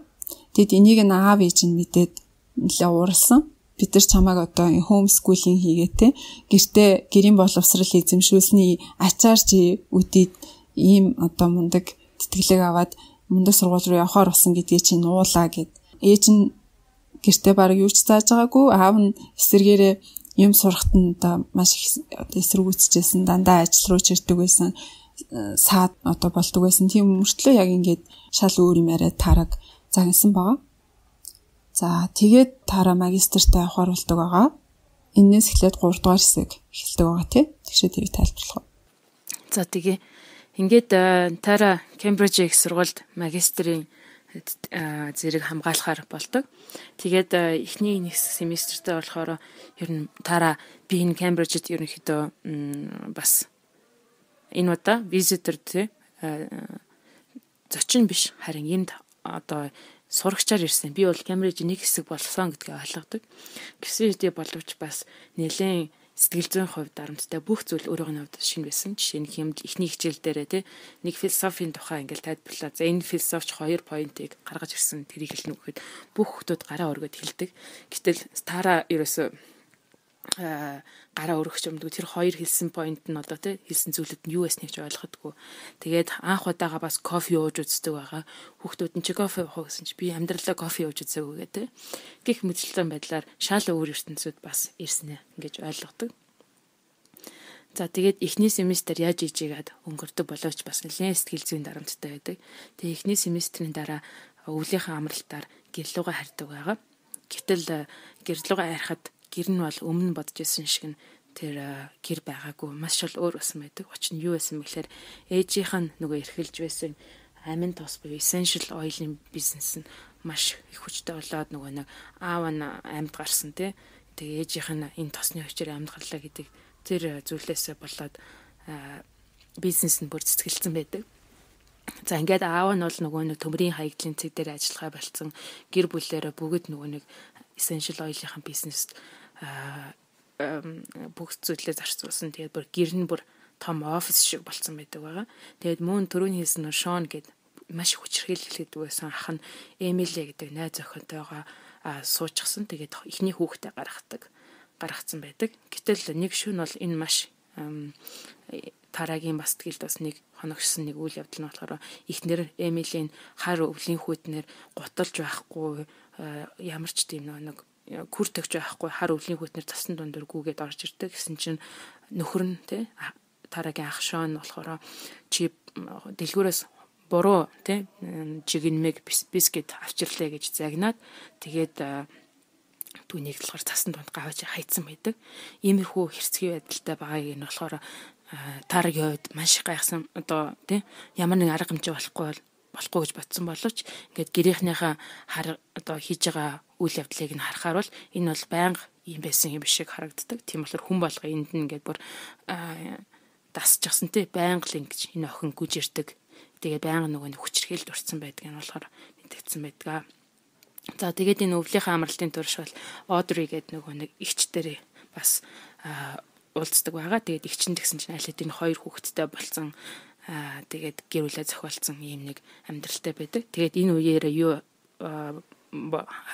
Speaker 2: Тэгэд энийг нь аав ээж нь мэдээд нэлээ ууралсан. Бид нар чамайг одоо хоум скулинг хийгээ те гэртээ гэрийн боловсрал эзэмшүүлсний ачаар чи үдээд ийм одоо мундаг тэтгэлэг аваад мундаг сургууль руу явахаар болсон гэдгийг чи нуулаа гэд. Ээж нь гэртээ баг юу ч зааж байгаагүй, аав нь эсэргээрээ юм сурахт нь одоо маш их эсэргүүцэжсэн, дандаа ажил руу чирдэг байсан, саад одоо болдог байсан. Тийм мөртлөө яг ингээд шал өөр юм яриад Тараг загнасан байгаа. За тэгээд Тара магистртаа явахаар болдог байгаа. Эннээс эхлээд гурав дахь хэсэг эхэлдэг байгаа тий. Тэгшээ тэрийг тайлбарлах.
Speaker 1: За тэгээ ингээд Тара Кембриж их сургуульд магистрийн зэрэг хамгаалахаар болдог. Тэгээд эхний нэг семестртээ болохоор ер нь Тара би энэ Кембрижид ерөнхийдөө бас энэ удаа визитор тий зочин биш харин энд одоо сурагчаар ирсэн. Би бол Кембрижийн нэг хэсэг болсон гэдгийг ойлгодог. Гэсэн хэдий боловч бас нэлээд сэтгэл зүйн хувьд дарамттай бүх зүйл өөрөөх нь хувьд шинэ байсан. Жишээ нь хэмд эхний хичээл дээрээ тий нэг философийн тухай ингээл тайлбарлаа. За энэ философч хоёр поинтыг гаргаж ирсэн. Тэрийг хэлнэ гэхэд бүх хүмүүс гараа өргөд хэлдэг. Гэтэл Тара ерөөсөө гараа өргөх юмдгүй тэр хоёр хэлсэн поинт нь одоо тий хэлсэн зүйлүүд нь юу байсныг ч ойлгохгүй. Тэгээд анх удаага бас кофе ууж үздэг байгаа. Хүүхдүүд нь чи кофе уух гэсэн чи би амьдралаа кофе ууж үзээгүй гэдэг. Гэх мэтчлэн байдлаар шал өөр ертөнцид бас ирсэн гэж ойлгодог. За тэгээд эхний семестр яаж ижигээд өнгөрдөг боловч бас нэлээд сэтгэл зүйн дарамттай байдаг. Тэгээд эхний семестрийн дараа өвлийнхээ амралтаар гэрлүүгээ харьдаг байгаа. Гэтэл гэрлүүгээ харихад гэр нь бол өмнө бодож исэн шиг нь тэр гэр байгаагүй маш шал өөр болсон байдаг. Учир нь юу байсан бэхээр ээжийнх нь нөгөө эрхэлж байсан амин тос буюу essential oil-ийн бизнес нь маш их хүчтэй болоод нөгөө нэг аав нь амьд гарсан тий. Тэгээ ээжийнх нь энэ тосны хүчээр амьд гарлаа гэдэг тэр зүйлээсээ болоод бизнес нь бүр цэцгэлсэн байдаг. За ингээд аав нь бол нөгөө нэг төмрийн хаягдлын цэг дээр ажиллахаа болцсон. Гэр бүлээрээ бүгд нөгөө нэг essential oil-ийн бизнест бүх зүйлээ зарцуулсан. Тэгээд бүр гэр нь бүр том офис шиг болцсон байдаг байгаа. Тэгээд мөн түрүүний хэлсэн нь Шон гэдэг маш хүчрхийлэл гэдэг байсан ах нь Эмили гэдэг найз охинтойгоо суучихсан. Тэгээд эхний хүүхдээ гаргадаг гаргацсан байдаг. Гэтэл нэг шөнө бол энэ маш Тарагийн бас тгэлд бас нэг хоногшсон нэг үйл явдал нь болохоор эхнэр Эмилийн хар өвлийн хүүтнэр гуталж байхгүй ямар ч тийм нэг күр төгж байхгүй хар өвлийн хүтнэр цасан дундор гүгээд орж ирдэг гэсэн чинь нөхөр нь тий Тарагийн ах Шон болохоор чи дэлгүүрээс буруу тий жигнэмэг бискет авчирлаа гэж загнаад тэгээд түүнийг болохоор цасан дунд гавж хайцсан байдаг. Иймэрхүү хэрцгий байдалтай байгааг нь болохоор Тарагийн хувьд маш их гайхсан. Одоо тий ямар нэг арга хэмжээ болохгүй бол болохгүй гэж бодсон боловч ингээд гэрийнхнийхээ хар одоо хийж байгаа үйл явдлыг нь харахаар бол энэ бол байнга юм байсан юм шиг харагддаг. Тийм болохоор хүн болго энд нь ингээд бүр дасчихсан тий байнга л ингэж энэ охин гүжирдэг. Тэгээд байнга нөгөө хүчрхийлд урцсан байдаг нь болохоор мэдэгдсэн байдаг. За тэгээд энэ өвлийнхээ амралтын турш бол Одри гэдэг нөгөө нэг эгч дээр бас уулздаг байгаа. Тэгээд эгч нь гэсэн чинь аль хэдийн хоёр хүүхэдтэй болсон. Аа тэгээд гэр бүлээ зохиолцсон ийм нэг амьдралтай байдаг. Тэгээд энэ үеэр юу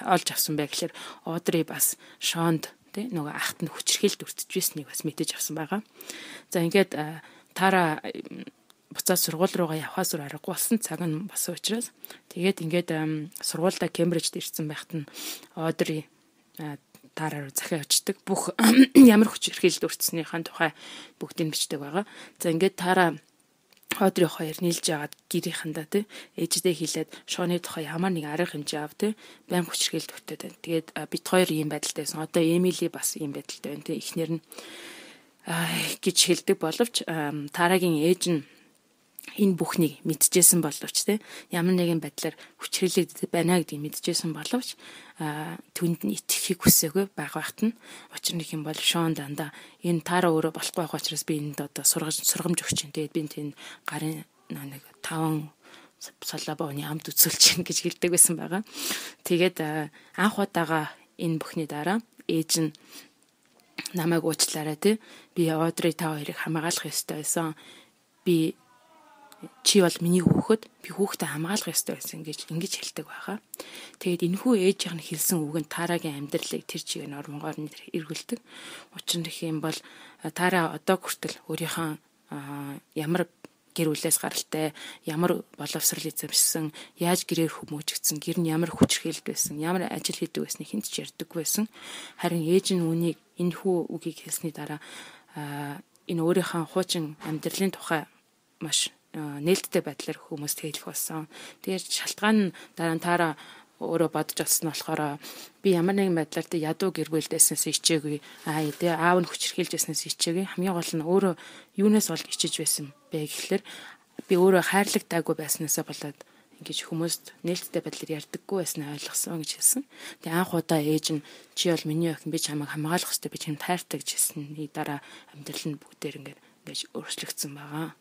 Speaker 1: олж авсан бэ гэхээр Одри бас Шонд тий нөгөө ахт нь хүчрхийлд өртөж байсныг бас мэдэж авсан байгаа. За ингээд Тара буцаад сургууль руугаа явхаас өөр аргагүй болсон цаг нь басан учраас тэгээд ингээд сургуультай Кембрижд ирсэн байхад нь Одри Тара руу захиа очдөг. Бүх ямар хүчрхийлд өртснийхэн тухай бүгдийг бичдэг байгаа. За ингээд Тара Одри хоёр нийлж яагаад гэрийнхэндээ тий ээждээ хэлээд Шоны тухай ямар нэг арга хэмжээ ав тий байн хүчрхийлд өгтөд байна. Тэгээд бит хоёр ийм байдалтай байсан. Одоо Эмили бас ийм байдалтай байна тий эхнэр нь гэж хэлдэг боловч Тарагийн ээж нь энэ бүхнийг мэдчихсэн боловч тий ямар нэгэн байдлаар хүчрхийлэгдэж байна гэдгийг мэдчихсэн боловч түнд нь итгэхийг хүсээгүй баг багт нь учир нь юм бол Шон дандаа энэ Тара өөрөө болохгүй байх учраас би энд одоо сургаж сургамж өгч чинь тэгээд би энэ гарын нэг таван салабооны амд үзүүлж чинь гэж хэлдэг байсан байгаа. Тэгээд анх удаага энэ бүхний дараа ээж нь намайг уучлаарай тий би Одри та хоёрыг хамгаалах ёстой байсан. Би чи бол миний хүүхэд би хүүхдээ хамгаалах ёстой байсан гэж ингэж хэлдэг байхаа. Тэгээд энэхүү ээжийнх нь хэлсэн үг нь Тарагийн амьдралыг тэр чигээр нормогоор нь эргүүлдэг. Учир нь юм бол Тара одоо хүртэл өөрийнхөө ямар гэр бүлээс гаралтай, ямар боловсрал эзэмшсэн, яаж гэрээр хүмүүжигдсэн, гэр нь ямар хүчрхийлд байсан, ямар ажил хийдэг байсныг хэн ч ярьдаг байсан. Харин ээж нь үнийг энэхүү үгийг хэлсний дараа энэ өөрийнхөө хуучин амьдралын тухай маш нээлттэй байдлаар хүмүүст хэлэх болсон. Тэгээд шалтгаан нь дараа нь Тара өөрөө бодож олсон болохоор би ямар нэгэн байдлаар тэ ядуу гэр бүлдээснээс ичээгүй. Аа тэгээ аав нь хүчрхийлж байснаас ичээгүй. Хамгийн гол нь өөрөө юунаас бол ичиж байсан бэ гэхэлэр би өөрөө хайрлагтайгүй байснаасаа болоод ингэж хүмүүст нээлттэй байдлаар ярьдаггүй байснаа ойлгосон гэж хэлсэн. Тэгээ анх удаа ээж нь чи бол миний охин би чамайг хамгаалах хэрэгтэй би чамд хайртай гэж хэлсэний дараа амьдрал нь бүгдээр ингээд ингэж өөрчлөгдсөн байгаа.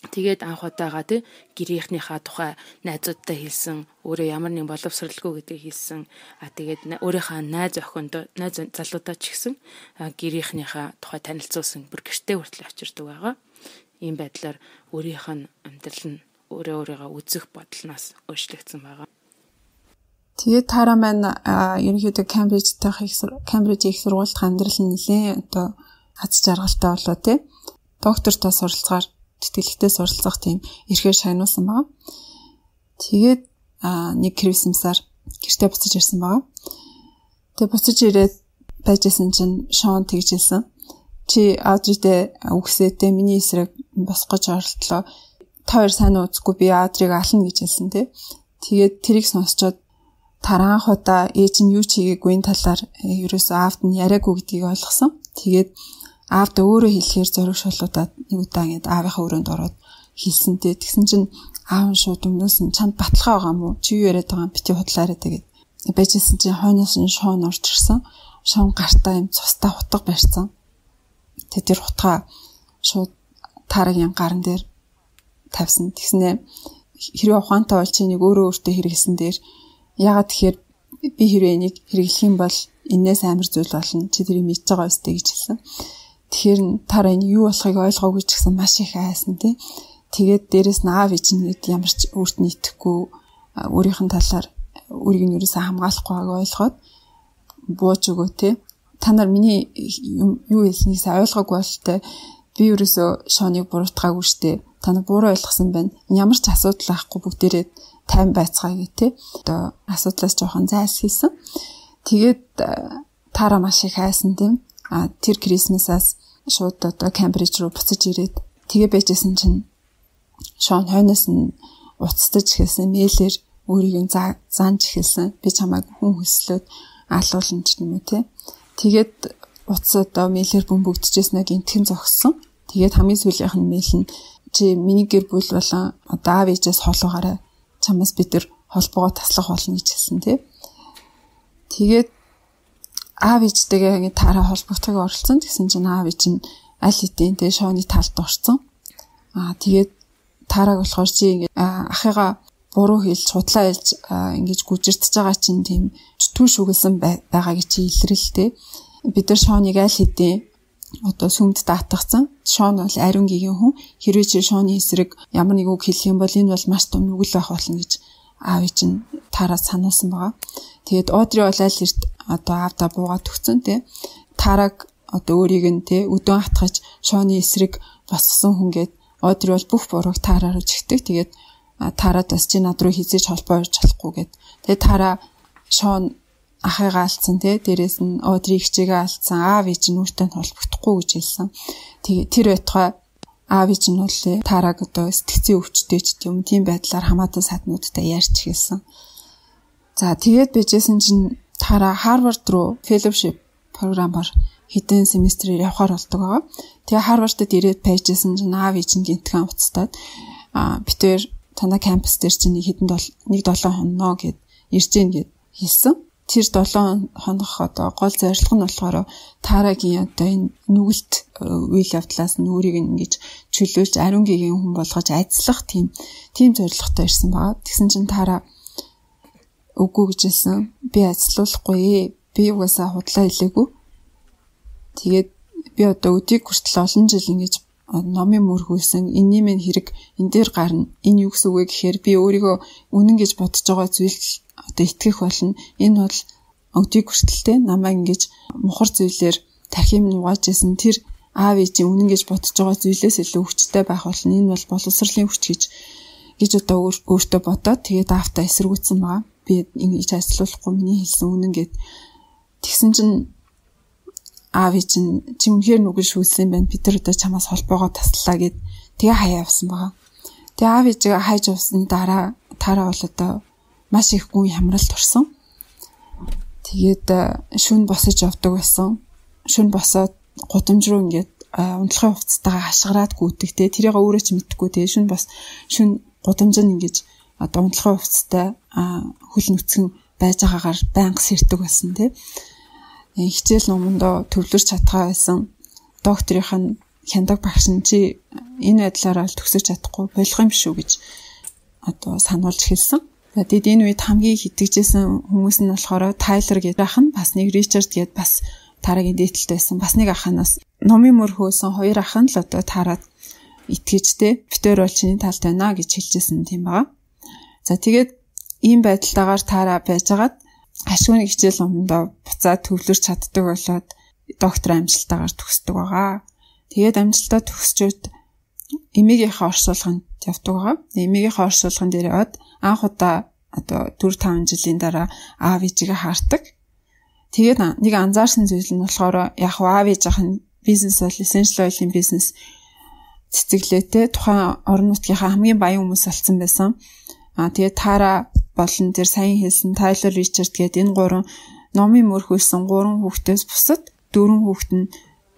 Speaker 1: Тэгээд анх удаага тий гэрийнхнийхээ тухай найзуудтай хэлсэн, өөрөө ямар нэг боловсралгүй гэдгийг хэлсэн. А тэгээд өөрийнхөө найз охинд найз залуудаа ч гэсэн гэрийнхнийхээ тухай танилцуулсан, бүр гэртээ хүртэл очирдаг байгаа. Ийм байдлаар өөрийнх нь амьдрал нь өөрөө өөрийгөө үзэх бодлоноос өөрчлөгдсөн байгаа.
Speaker 2: Тэгээд Тара маань ерөнхийдөө Кембрижд таах их Кембриж их сургуульд амьдрал нь нэлээд одоо аз жаргалтай болоо тий. Доктортой суралцахаар тэтгэлэгтэй суралцах тийм эрхээр шагнуулсан байгаа. Тэгээд нэг Крисмсаар гэртээ буцаж ирсэн байгаа. Тэгээд буцаж ирээд байжсэн чинь Шон тэгжсэн. Чи Адридээ үгсээтэй миний эсрэг босгож оролдлоо. Та хоёр сайн ууцгүй би Адрийг ална гэж хэлсэн тий. Тэгээд тэрийг сонсчоод Тара анх удаа ээж нь юу ч хийгээгүй энэ талаар ерөөсөө аавд нь яриаггүй гэдгийг ойлгосон. Тэгээд аавд өөрөө хэлэхээр зориг шулуудаад нэг удаа ингэж аавынхаа өрөөнд ороод хэлсэнтэй. Тэгсэн чинь аав нь шууд өмнөөс нь чамд баталгаа байгаа мó? Чи юу яриад байгаа юм бити худлаарай тэгээд. Байжсэн чинь хойноос нь Шон орж ирсэн. Шон гартаа юм цустай хутга барьсан. Тэгээд тэр хутгаа шууд Тарагийн гарн дээр тавьсан. Тэгснээ хэрвээ ухаантай бол чи нэг өөрөө өөртөө хэрэгэлсэн дээр ягаад тэгэхээр би хэрвээ энийг хэрэглэх юм бол энээс амар зүйл болно. Чи тэрийг мэдж байгаа өстэй гэж хэлсэн. Тэгэхээр Тара энэ юу болохыг ойлгоогүй ч гэсэн маш их айсан тий. Тэгээд дээрэс нь аав ээж нь ямар ч өөрт нь итгэхгүй өөрийнх нь талаар өөрийг нь ерөөсөө хамгаалахгүй байгааг ойлгоод бууж өгөө тий. Та нар миний юу хэлснийг сайн ойлгоогүй бол тий. Би ерөөсөө Шоныг буруутгаагүй штэ. Та нар буруу ойлгосон байна. Ямар ч асуудал байхгүй бүгдээрээ тайван байцгаая гэх тээ. Одоо асуудлаас жоохон зайлсхийсэн. Тэгээд Тара маш их хайсан тийм. А тэр Крисмасаас шууд одоо Кембриж руу буцаж ирээд тэгээ байжсэн чинь Шон хойноос нь уцтаж хэлсэн мэйлэр өөрийг нь заанж хэлсэн. Би чамайг хүн хөслөөд аалуулна ч юм уу тий. Тэгээд утас одоо мэйлэр бөмбөгдөжсэн гинтхэн зогссон. Тэгээд хамгийн сүүлийнх нь мэйл нь чи миний гэр бүл болон одоо аав ээжээс холуугаарай. Чамаас бид нар холбоогоо таслах болно гэж хэлсэн тий. Тэгээд аав ээжтэйгээ ингэ Тара холбогдохыг оролцсон. Тэгсэн чинь аав ээж нь аль хэдийн тий Шоны талд орцсон. Аа тэгээд Тараг болохоор чи ингэ ахыгаа буруу хэлж худлаа хэлж ингэж гүжирдэж байгаа чинь тийм түүш үгэлсэн байгаа гэж чи илрэлтэй. Бид нар Шоныг аль хэдийн одоо сүмд даатгацсан. Шон бол ариун гигийн хүн. Хэрвээ чи Шоны эсрэг ямар нэг үг хэлэх юм бол энэ бол маш том нүгэл байх болно гэж аав ээж нь Тараас сануулсан байгаа. Тэгээд Одри бол аль эрт одоо аавда буугаад өгцөн тий. Тараг одоо өөрийг нь тий өдөн хатгаж Шоны эсрэг босгосон хүн гээд Одри бол бүх бурууг Тараар жигдэг. Тэгээд Тараад бас чи над руу хизээж холбоо орж болохгүй гээд. Тэгээд Тара Шон ахыгаа алдсан тий. Дээрээс нь Одри ихчээгээ алдсан. Аав ээж нь өөртөө холбогдохгүй гэж хэлсэн. Тэгээд тэр байтугай аав ээж нь бол Тараг одоо сэтгцийн өвчтэй ч юм тийм байдлаар хамаатан саднуудтай ярьж хэлсэн. За тэгээд байжсэн чинь Тара Харвард руу fellowship програмаар хэдэн семестрээр явхаар болдог байгаа. Тэгээ Харвардд ирээд байжсэн чинь аав ээж нь гинтгэн уцтаад аа битээр танаа кампус дээр чинь хэдэн нэг долоо хоноо гэд ирж гин гэд хэлсэн. Тэр долоо хонох одоо гол зорилго нь болохоор Тарагийн одоо энэ нүгэлт үйл явдлаас нь өөрийг ингэж чөлөөлж ариун гигийн хүн болгож ажиллах тийм тийм зорилготой ирсэн байгаа. Тэгсэн чинь Тара үгүй гэжсэн. Би ажиллахгүй. Би угаасаа худлаа хэлээгүй. Тэгээд би одоо өдийг хүртэл олон жил ингэж номын мөрхүүлсэн. Энэний минь хэрэг энэ дээр гарна. Энэ юу гэсэн үг вэ гэхээр би өөрийгөө үнэн гэж бодож байгаа зүйлд одоо итгэх болно. Энэ бол өдийг хүртэлтэй намайг ингэж мухар зүйлээр тархим нугааж исэн. Тэр аав ээжийн үнэн гэж бодож байгаа зүйлээс илүү хүчтэй байх болно. Энэ бол боловсролын хүч гэж гэж одоо өөртөө бодоод тэгээд аавтаа эсэргүүцсэн байгаа. Би ингэж ажиллахгүй миний хэлсэн үнэн гэд тэгсэн чинь аав чинь чи үнэхээр нүгэл шүүлсэн байна. Бид нар одоо чамаас холбоогоо таслаа гэд тэгээ хаяа явсан байгаа. Тэгээ аав ээжигээ хайж явсны дараа Тара бол одоо маш их гүн хямралд орсон. Тэгээд шүн босож явдаг байсан. Шүн босоод гудамж руу ингээд унтлахын хувцастайгаа хашгираад гүйдэгтэй. Тэрийг өөрөө ч мэдэхгүй. Тэгээ шүн бас шүн гудамж нь ингэж одоо унтлахын хувцастай хөл нүцгэн байж байгаагаар байнга сэрдэг байсан тий. Хичээл номондоо төвлөрч чадхаа байсан. Докторийнх нь хяндаг багш нь чи энэ байдлаараа төгсөж чадахгүй болох юм шүү гэж одоо сануулж хэлсэн. Тэгээд энэ үед хамгийн хитгэжсэн хүмүүс нь болохоор Тайлер гэдэг ах нь бас нэг Ричард гэдэг бас Тарагийн дээдэлтэй байсан. Бас нэг аханаас номын мөр хөөсөн хоёр ах нь л одоо Тараад итгэжтэй битээр бол чиний талд байна гэж хэлжсэн тийм байгаа. За тэгээд ийм байдалтайгаар Тара байжгаад ашгүй хичээл номондоо буцаад төвлөрч чаддаг болоод доктор амжилтаагаар төгсдөг байгаа. Тэгээд амжилтаа төгсчөөд эмээгийнхээ оршуулганд явдаг байгаа. Эмээгийнхээ оршуулган дээр яваад анх удаа одоо дөрв таван жилийн дараа аав ээжигээ хаардаг. Тэгээд нэг анзаарсан зүйл нь болохоор яг аав ээжийнх нь бизнес бол essential oil-ийн бизнес цэцэглээтэй тухайн орон нутгийнхаа хамгийн баян хүмүүс болсон байсан. Аа тэгээд Тара болон тэр сайн хэлсэн Тайлер Ричард гэдэг энэ гурван номын мөрхүүлсэн гурван хүүхдээс бусад дөрвөн хүүхэд нь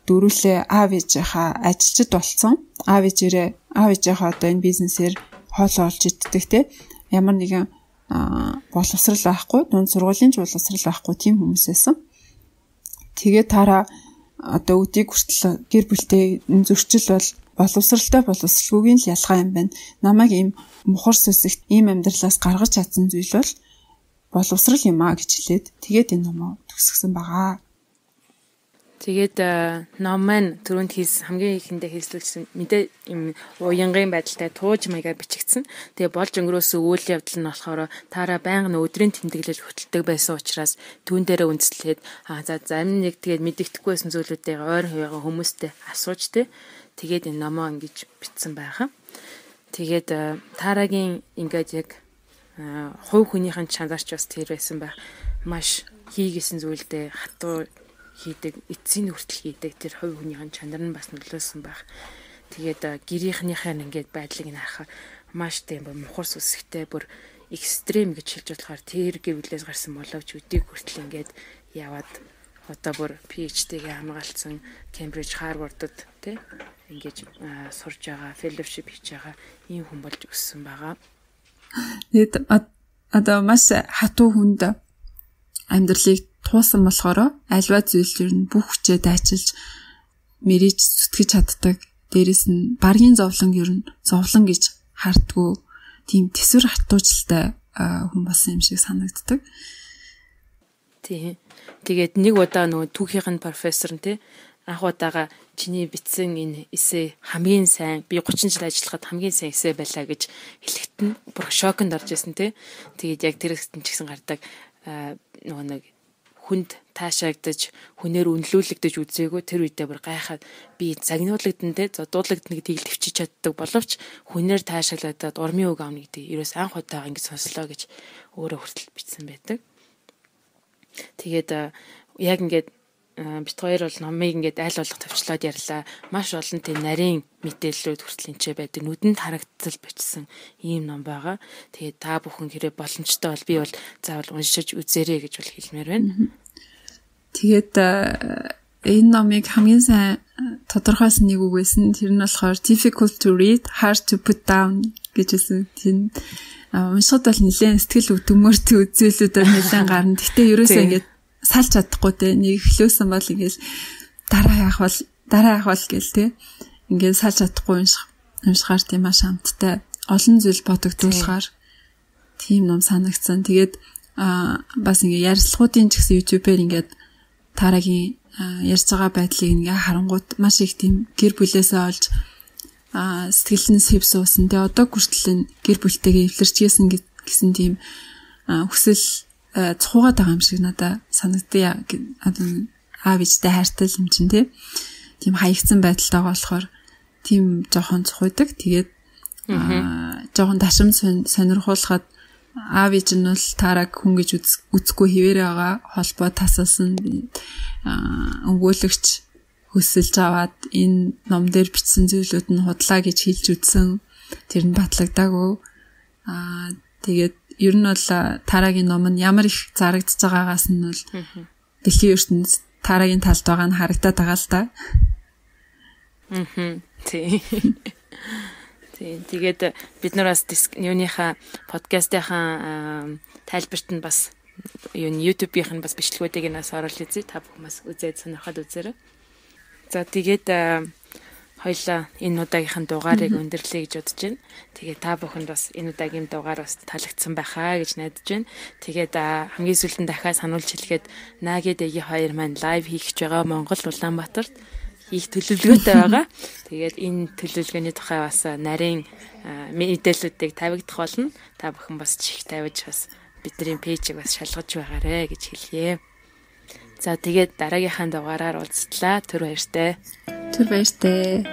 Speaker 2: дөрүлээ аав ээжийнхаа ажилчид болсон. Аав ээжээрээ аав ээжийнхаа одоо энэ бизнесээр хоол олж иддэг те. Ямар нэгэн боловсрал байхгүй, дунд сургуулийн ч боловсрал байхгүй тийм хүмүүс байсан. Тэгээд Тара одоо өдийг хүртэл гэр бүлтэй зөрчил бол боловсралтай боловсралгүйгийн л ялгаа юм байна. Намайг ийм мухар сүсэгт ийм амьдралаас гаргаж чадсан зүйл бол боловсрал юм а гэж хэлээд тэгээд энэ номоо төгсгсөн байгаа.
Speaker 1: Тэгээд ном маань түрүүнд хийс хамгийн ихэндээ хийслүүлсэн мэдээ юм уянгын байдалтай тууж маягаар бичигдсэн. Тэгээ болж өнгөрөөсөн үйл явдал нь болохоор Тара байнга өдрийн тэмдэглэл хөтэлдэг байсан учраас түүн дээрээ үндэслээд аа за зарим нэг тэгээд мэддэхгүй байсан зүйлүүдээ ойр хуваагаа хүмүүстэй асууж тэ тэгээд энэ номоо ингэж бичсэн байгаа. Тэгээд Тарагийн ингээд яг хувь хүнийхэн чанарч бас тэр байсан байх. Маш хийгээсэн зүйлдээ хатуу хийдэг, эцсийн хүртэл хийдэг тэр хувь хүнийхэн чанар нь бас нөлөөсөн байх. Тэгээд гэрийнхнийхээ ингээд байдлыг нь харахаар маш тийм мухар сүсгтэй бүр экстрем гэж хэлж болохоор тэр гэр бүлээс гарсан боловч өдийг хүртэл ингээд яваад одоо бүр PhD-гээ хамгаалсан Cambridge, Harvard-д тий ингээд сурж байгаа, fellowship хийж байгаа ийм хүн болж өссөн байгаа.
Speaker 2: Тэгээд одоо маш хатуу хүнд амьдралыг туусан болохоор альва зүйл нь бүх хүчээ дайчилж мэрэж зүтгэж чаддаг. Дээрэс нь баргийн зовлон ер нь зовлон гэж хардггүй тийм тэсвэр хатуучлалтай хүн болсон юм шиг санагддаг.
Speaker 1: Тийм. Тэгээд нэг удаа нөгөө түүхийнх нь профессор нь тий анх удаага чиний бичсэн энэ эссе хамгийн сайн би гучин жил ажиллахад хамгийн сайн эссе байлаа гэж хэлэхэд нь бүр шоконд орж исэн тий. Тэгээд яг тэр хэсэгт ч гэсэн гардаг нөгөө нэг хүнд таашаагдаж хүнээр үнэлүүлэгдэж үзээгүй тэр үедээ бүр гайхаад би загнуулагдсан те зодуулагдсан гэдгийг төвчиж чаддаг боловч хүнээр таашаагдаад урмын үг авна гэдэг ерөөс анх удаага ингэж сонслоо гэж өөрөө хүртэл бичсэн байдаг. Тэгээд яг ингээд бит хоёр бол номыг ингээд айл болох төвчлөөд ярьлаа. Маш олон тийм нарийн мэдээллүүд хүртэл энчээ байдаг. Нүдэнд харагдтал бичсэн ийм ном байгаа. Тэгээд та бүхэн хэрэг боломжтой бол би бол заавал уншиж үзээрэй гэж бол хэлмээр байна.
Speaker 2: Тэгээд энэ номыг хамгийн сайн тодорхойлсон нэг үг байсан. Тэр нь болохоор difficult to read, hard to put down гэжсэн. Тийм уншихад бол нэлээд сэтгэл өвдмөрт үзүүлэлүүд нэлээд гарна. Гэхдээ ерөөсөө ингээд салж чадахгүй те нэг эхлүүлсэн бол ингээл дараа яах бол дараа яах бол гээл те ингээд салж чадахгүй унших уншихаар тийм маш амттай олон зүйл бодогдуулахаар тийм ном санагдсан. Тэгээд бас ингээ ярилцлагуудын ч гэсэн YouTube-ээр ингээд тарагийн ярьж байгаа байдлыг ингээ харангуут маш их тийм гэр бүлээсээ олж сэтгэлэн сэв суусан. Тэгээ одоо хүртэл гэр бүлтэйгээ эвлэрчгээсэн гэсэн тийм хүсэл цухуугаад байгаа юм шиг надад санагдъя. Одоо аав ээжтэй хайртай юм чинь тийм хаягдсан байдалтай байгаа болохоор тийм жоохон цухуудаг. Тэгээд жоохон ташим сонирхуулахад аав ээж нь бол тараг хүн гэж үзэхгүй хിവэрэ байгаа холбоо тасалсан өнгөлөгч хөсөлж аваад энэ ном дээр бичсэн зүйлүүд нь худлаа гэж хэлж үзсэн. Тэр нь батлагдаагүй. Аа тэгээд ер нь бол тарагийн ном нь ямар их зарагдж байгаагаас нь бол дэлхийн ертөнцид тарагийн талд байгаа нь харагдаад байгаа л да.
Speaker 1: Мм. Тий. Тий. Тэгээд бид нар бас юуныхаа подкастынхаа тайлбарт нь бас юу YouTube-ийнх нь бас бичлэгүүдийг нас оруулж үзье. Та бүхэн бас үзээд сонирхоод үзээрэй. За тэгээд хоёлаа энэ удаагийнхын дугаарыг өндөрлөе гэж бодож байна. Тэгээд та бүхэнд бас энэ удаагийн дугаар бас таалагдсан байхаа гэж найдаж байна. Тэгээд хамгийн сүүлд нь дахиад сануулж хэлэхэд Наги Дэги хоёр маань лайв хийх гэж байгаа Монгол Улаанбаатарт хийх төлөвлөгөөтэй байгаа. Тэгээд энэ төлөвлөгөөний тухай бас нарийн мэдээллүүдийг тавигдах болно. Та бүхэн бас чих тавьж бас бидний пэйжийг бас шалгаж байгаарэ гэж хэлье. За тэгээд дараагийнхаа дугаараар уулзлаа. Түр баяртай.
Speaker 2: Түр баяртай.